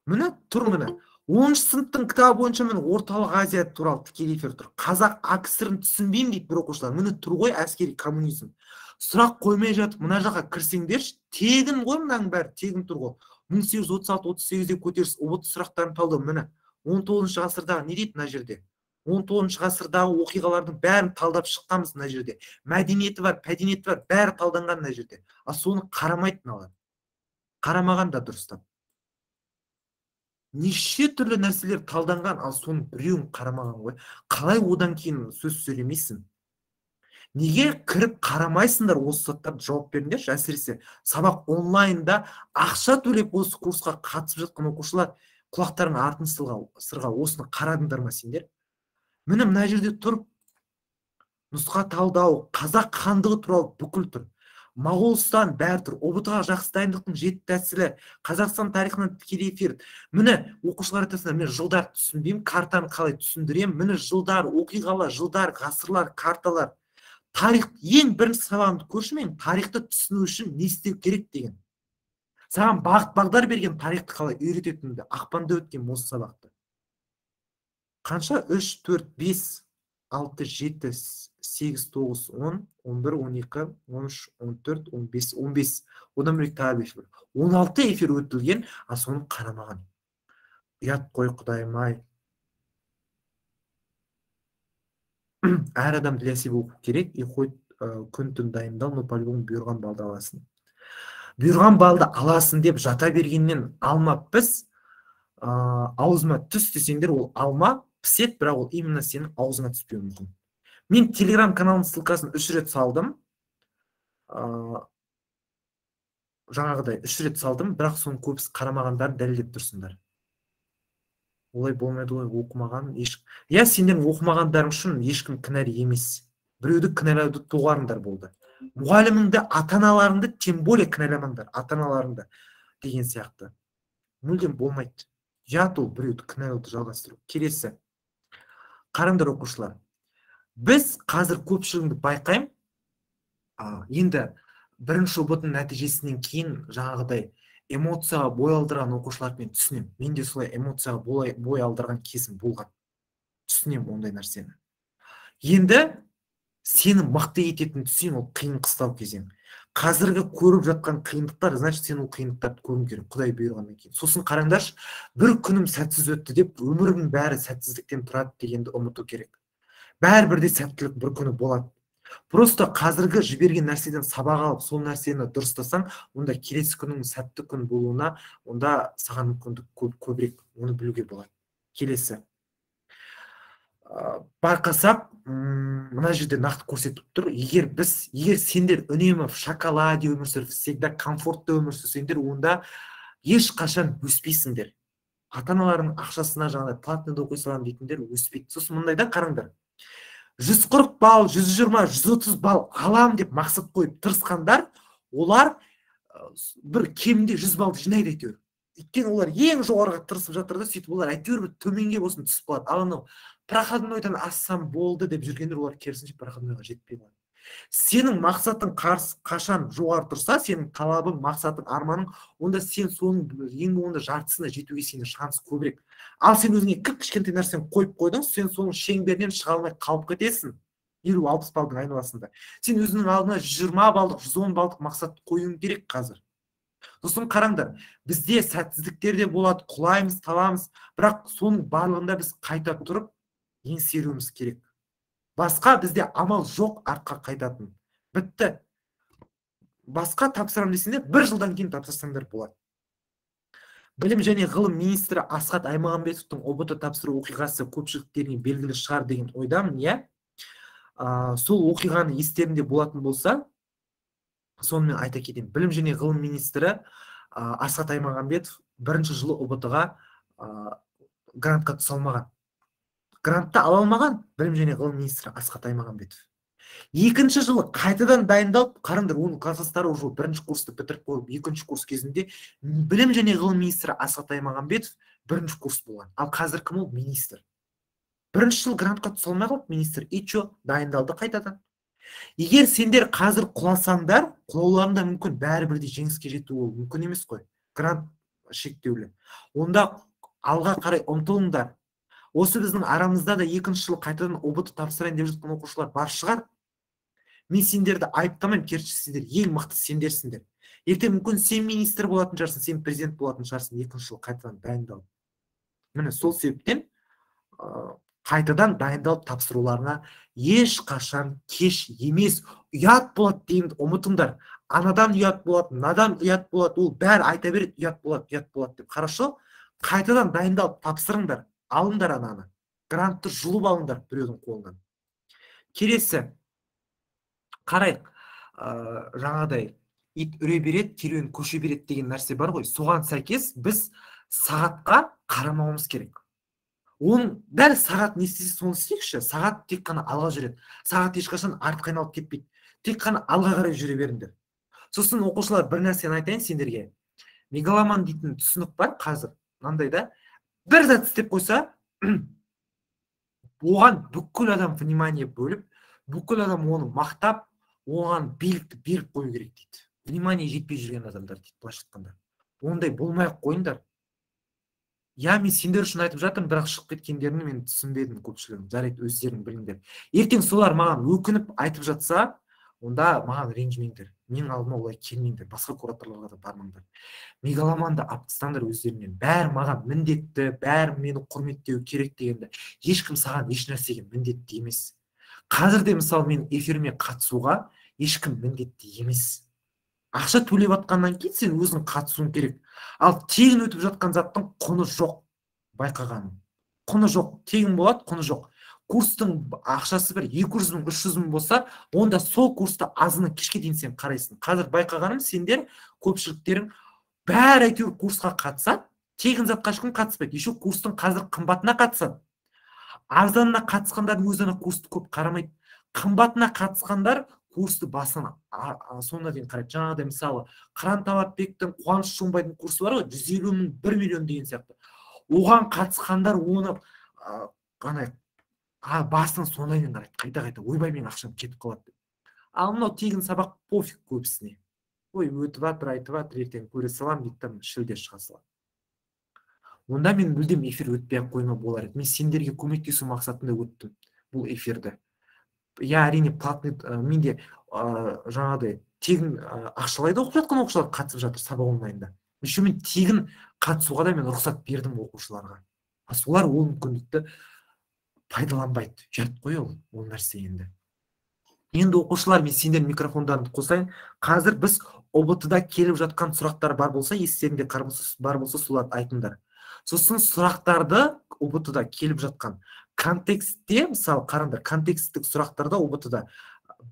Міне тұр міне. оныншы сыныптың кітабы бойынша міне орталық Азия туралы тікелей эфир тұр. Қазақ АКСР-ін түсінбеймін дейді бір оқушылар. Міне тұр ғой әскери коммунизм. Сұрақ қоймай жатып, мына жаққа кірсеңдерші, тегін ғой мынаның бәрі, тегін тұр ғой. мың сегіз жүз отыз алты отыз сегізде көтеріс ұбт сұрақтарын талдау. Міне он тоғызыншы ғасырдағы не дейді мына жерде? он тоғызыншы ғасырдағы оқиғалардың бәрін талдап шыққанбыз мына жерде. Мәдениеті бар, мәдениеті бар, бәрі талданған мына жерде. А соны қарамайды мыналар. Қарамаған да дұрыстап. Неше түрлі нәрселер талданған, ал соны біреуін қарамаған ғой. Қалай одан кейін сөз сөйлемейсің? Неге кіріп қарамайсыңдар, осы сұрақтарға жауап беріңдерші. Әсіресе сабақ онлайнда ақша төлеп осы курсқа қатысып жатқан оқушылар құлақтарың артын сырға осыны қарадыңдар ма сендер? Міне мына жерде тұр. Нұсқа талдау, қазақ хандығы туралы бүкіл тұр. Моғолстан бәрі тұр. ұбт-ға жақсы дайындықтың жеті тәсілі, Қазақстан тарихынан тікелей эфир. Міне оқушылар айтасыңдар, мен жылдар түсінбеймін, картаны қалай түсіндірем. Міне жылдар, оқиғалар, жылдар, ғасырлар, карталар. Тарих ең бірінші сабағымды көрші, мен тарихты түсіну үшін не істеу керек деген. Саған бағыт бағдар берген тарихты қалай үйрететінді ақпанда өткен осы сабақты. Қанша? үш, төрт, бес, алты, жеті, сегіз, тоғыз, он, он бір, он екі, он үш, он төрт, он бес, он бес. Одан бөлек тағы эфир. он алты эфир өтілген, а соны қарамаған. Ұят қой құдайым-ай. Әр адам для себя оқу керек, и хоть күн-түн дайындал, но по-любому бұйырған балды аласын. Бұйырған балды аласын деп жата бергеннен алма піс, аузыма түс десеңдер, ол алма пісет, бірақ ол именно сенің аузыңа түспеуі мүмкін. Мен телеграм каналының ссылкасын үш рет салдым. Жаңағыдай үш рет салдым, бірақ соның көбісі қарамағандарын дәлелдеп тұрсыңдар. Олай болмайды ғой, оқымаған еш. Я сендердің оқымағандарың үшін ешкім кінәлі емес. Біреуді кінәлауды туғарыңдар болды. Мұғаліміңді, ата-аналарыңды тем более кінәламаңдар, ата-аналарыңды деген сияқты. Мүлдем болмайды. Жат ол біреуді кінәлауды жалғастыру. Келесі. Қараңдар оқушылар. Біз қазір көпшілігіңді байқаймын. Енді бірінші ұбт нәтижесінен кейін жаңағыдай эмоцияға бой алдырған оқушыларды мен түсінем. Мен де солай эмоцияға бой алдырған кезім болған. Түсінем ондай нәрсені. Енді сені мықты ететін түсін, ол қиын қыстау кезең. Қазіргі көріп жатқан қиындықтар, значит, сен ол қиындықтарды көруің керек, Құдай бұйырғаннан кейін. Сосын қараңдаршы, бір күнім сәтсіз өтті деп, өмірдің бәрі сәтсіздіктен тұрады дегенді ұмыту керек. Бәрібір де сәттілік бір күні болады. Просто қазіргі жіберген нәрседен сабақ алып, сол нәрсені дұрыстасаң, онда келесі күннің сәтті күн болуына, онда саған мүмкіндік көбірек, оны білуге болады. Келесі. байқасақ, мына жерде нақты көрсетіп тұр. Егер біз, егер сендер үнемі в шоколаде өмір сүріп, всегда комфортты өмір сүрсеңдер, онда ешқашан өспейсіңдер. Ата-аналарының ақшасына жаңағыдай платныйда оқи саламын дейтіндер өспейді. Сосын мындайда қараңдар. жүз қырық балл, жүз жиырма, жүз отыз балл алам деп мақсат қойып тырысқандар, олар бір кемінде жүз балл жинайды әйтеуір. Өйткені олар ең жоғарыға тырысып жатыр да, сөйтіп олар әйтеуір бір төменге болсын түсіп қалады. Ал анау проходнойдан ассам болды деп жүргендер, олар керісінше проходнойға жетпей қалады. Сенің мақсатың қашан жоғары тұрса, сенің талабың, мақсатың, арманың, онда сен соның ең болғанда жартысына жетуге сенің шанс көбірек. Ал сен өзіңе кішкентай нәрсені қойып қойдың, сен соның шеңберінен шыға алмай қалып кетесің. елу алпыс балдың айналасында. Сен өзіңнің алдына жүз жиырма балдық, жүз он балдық мақсат қоюың керек қазір. Сосын қараңдар, бізде сәтсіздіктер де болады, құлаймыз, таламыз, бірақ соның барлығында біз қайта тұрып еңсеруіміз керек. Басқа бізде амал жоқ артқа қайтатын. Бітті. Басқа тапсырам десеңдер, бір жылдан кейін тапсырсаңдар болады. Білім және ғылым министрі Асхат Аймағамбетовтың О Б Т тапсыру оқиғасы көпшіліктеріне белгілі шығар деген ойдамын, иә. Сол оқиғаны естерінде болатын болса, сонымен айта кетейін. Білім және ғылым министрі Асхат Аймағамбетов бірінші жылы О Б Т-ға грантқа түсе алмаған. Грантты ала алмаған білім және ғылым министрі Асхат Аймағамбетов. Екінші жылы қайтадан дайындалып, қараңдар, оның кластастары уже бірінші курсты бітіріп қойып, екінші курс кезінде білім және ғылым министрі Асхат Аймағамбетов бірінші курс болған. Ал қазір кім ол? Министр. Бірінші жыл грантқа түсе алмай қалып, министр и чо дайындалды қайтадан. Егер сендер қазір құласаңдар, құлауларында мүмкін бәрібірде жеңіске жету ол мүмкін емес қой. Грант шектеулі. Онда алға қарай ұмтылыңдар. Осы біздің арамызда да екінші жыл қайтадан О Б Т тапсырайын деп жатқан оқушылар бар шығар. Мен сендерді айыптамаймын, керісінше сендер ең мықты сендерсіңдер. Ертең мүмкін сен министр болатын шығарсың, сен президент болатын шығарсың, екінші жыл қайтадан дайындалып. Міне сол себептен қайтадан дайындалып тапсыруларына ешқашан кеш емес. Ұят болады деймін, ұмытыңдар. Анадан ұят болады, мынадан ұят болады, ол бәрі айта береді, ұят болады, ұят болады деп. Хорошо? Қайтадан дайындалып тапсырыңдар. Алыңдар ананы. Грантты жұлып алыңдар біреудің қолынан. Келесі. Қарайық. Жаңадай ит үре береді, керуен көше береді деген нәрсе бар ғой. Соған сәйкес біз сағатқа қарамауымыз керек. Оның дәл сағат не істесе соны істейікші. Сағат тек қана алға жүреді. Сағат ешқашан артқа айналып кетпейді. Тек қана алға қарай жүре беріңдер. Сосын оқушылар, бір нәрсені айтайын сендерге. Мегаломан дейтін түсінік бар қазір. Мынандай да бір зат істеп қойса, оған бүкіл адам внимание бөліп, бүкіл адам оны мақтап, оған билікті беріп қою керек дейді. Внимание жетпей жүрген адамдар дейді, былайша айтқанда. Ондай болмай-ақ қойыңдар. Я, мен сендер үшін айтып жатырмын, бірақ шығып кеткендерін мен түсінбедім көпшілігін. Жарайды, өздерің біліңдер. Ертең солар маған өкініп айтып жатса, онда маған ренжімеңдер. Мен алдыма олай келмеңдер, басқа кураторларға да бармаңдар. Мегаломанды алып тастаңдар өздерінен. Бәрі маған міндетті, бәрі мені құрметтеу керек дегенде, ешкім саған еш нәрсеге міндетті емес. Қазір де мысалы мен эфиріме қатысуға ешкім міндетті емес. Ақша төлеп атқаннан кейін сен өзің қатысуың керек. Ал тегін өтіп жатқан заттың құны жоқ. Байқағаным. Құны жоқ. Тегін болады, құны жоқ. Курстың ақшасы бір екі жүз мың, үш жүз мың болса, онда сол курсты азынан кешке дейін сен қарайсың. Қазір байқағаным, сендер көпшіліктерің бәрі әйтеуір курсқа қатысады, тегін затқа ешкім қатыспайды. Еще курстың қазір қымбатына қатысады. Арзанына қатысқандардың өзіне курсты көп қарамайды. Қымбатына қатысқандар курсты басына соңына дейін қарайды. Жаңағыдай мысалы Қыран Талапбектің, Қуаныш Шоңбайдың курсы бар ғой, жүз елу мың, бір миллион деген сияқты. Оған қатысқандар оны ғана басын соңына дейін қарайды. Қайта-қайта ойбай мен ақшам кетіп қалады. Ал мынау тегін сабақ пофиг көбісіне. Ой, өтіп жатыр, айтып жатыр, ертең көре салам дейді, шілде шыға салам. Онда мен мүлдем эфир өтпей қойма болар еді. Мен сендерге көмектесу мақсатында өттім бұл эфирді. Я әрине платный, менде жаңағыдай тегін ақшалай да оқып жатқан оқушылар қатысып жатыр сабақ онлайнда. Еще мен тегін қатысуға да мен рұқсат бердім оқушыларға. Солар ол мүмкіндікті пайдаланбайды. Жат қой ол, ол нәрсе енді. Енді оқушылар, мен сендер микрофондарын қосайын. Қазір біз О Б Т-да келіп жатқан сұрақтар бар болса, естерінде бар болса, соларды айтыңдар. Сосын сұрақтарды О Б Т-да келіп жатқан контекстте, мысалы қараңдар, контексттік сұрақтарда ұбт-да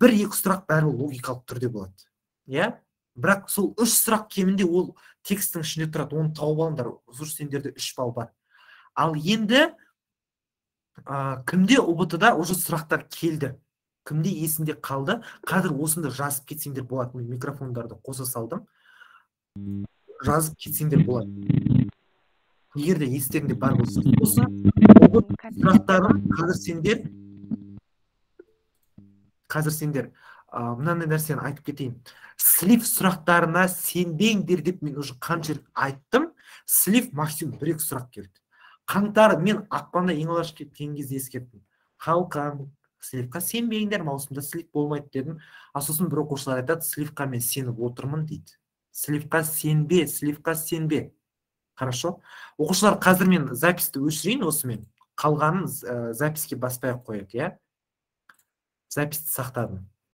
бір екі сұрақ бәрі логикалық түрде болады. Иә? Бірақ сол үш сұрақ кемінде ол тексттің ішінде тұрады, оны тауып алыңдар, зур сендерде үш балл бар. Ал енді ә, кімде ұбт-да уже сұрақтар келді, кімде есінде қалды, қазір осында жазып кетсеңдер болады. Мен микрофондарды қоса салдым, жазып кетсеңдер болады. Егер де естеріңде бар болса, осы сұрақтарын қазір сендер қазір сендер ә, мынандай нәрсені айтып кетейін. Слив сұрақтарына сенбеңдер деп мен уже қанша рет айттым. Слив максимум бір екі сұрақ келді. Қаңтар мен ақпанда ең алғаш кеткен кезде ескерттім. Қалқан, сливқа сенбеңдер, маусымда слив болмайды дедім. А сосын бір оқушылар айтады, сливқа мен сеніп отырмын дейді. Сливқа сенбе, сливқа сенбе. Хорошо? Оқушылар, қазір мен записьті өшірейін осымен. Қалғанын ә, запиське баспай ақ қояйық, иә? Записьті сақтадым.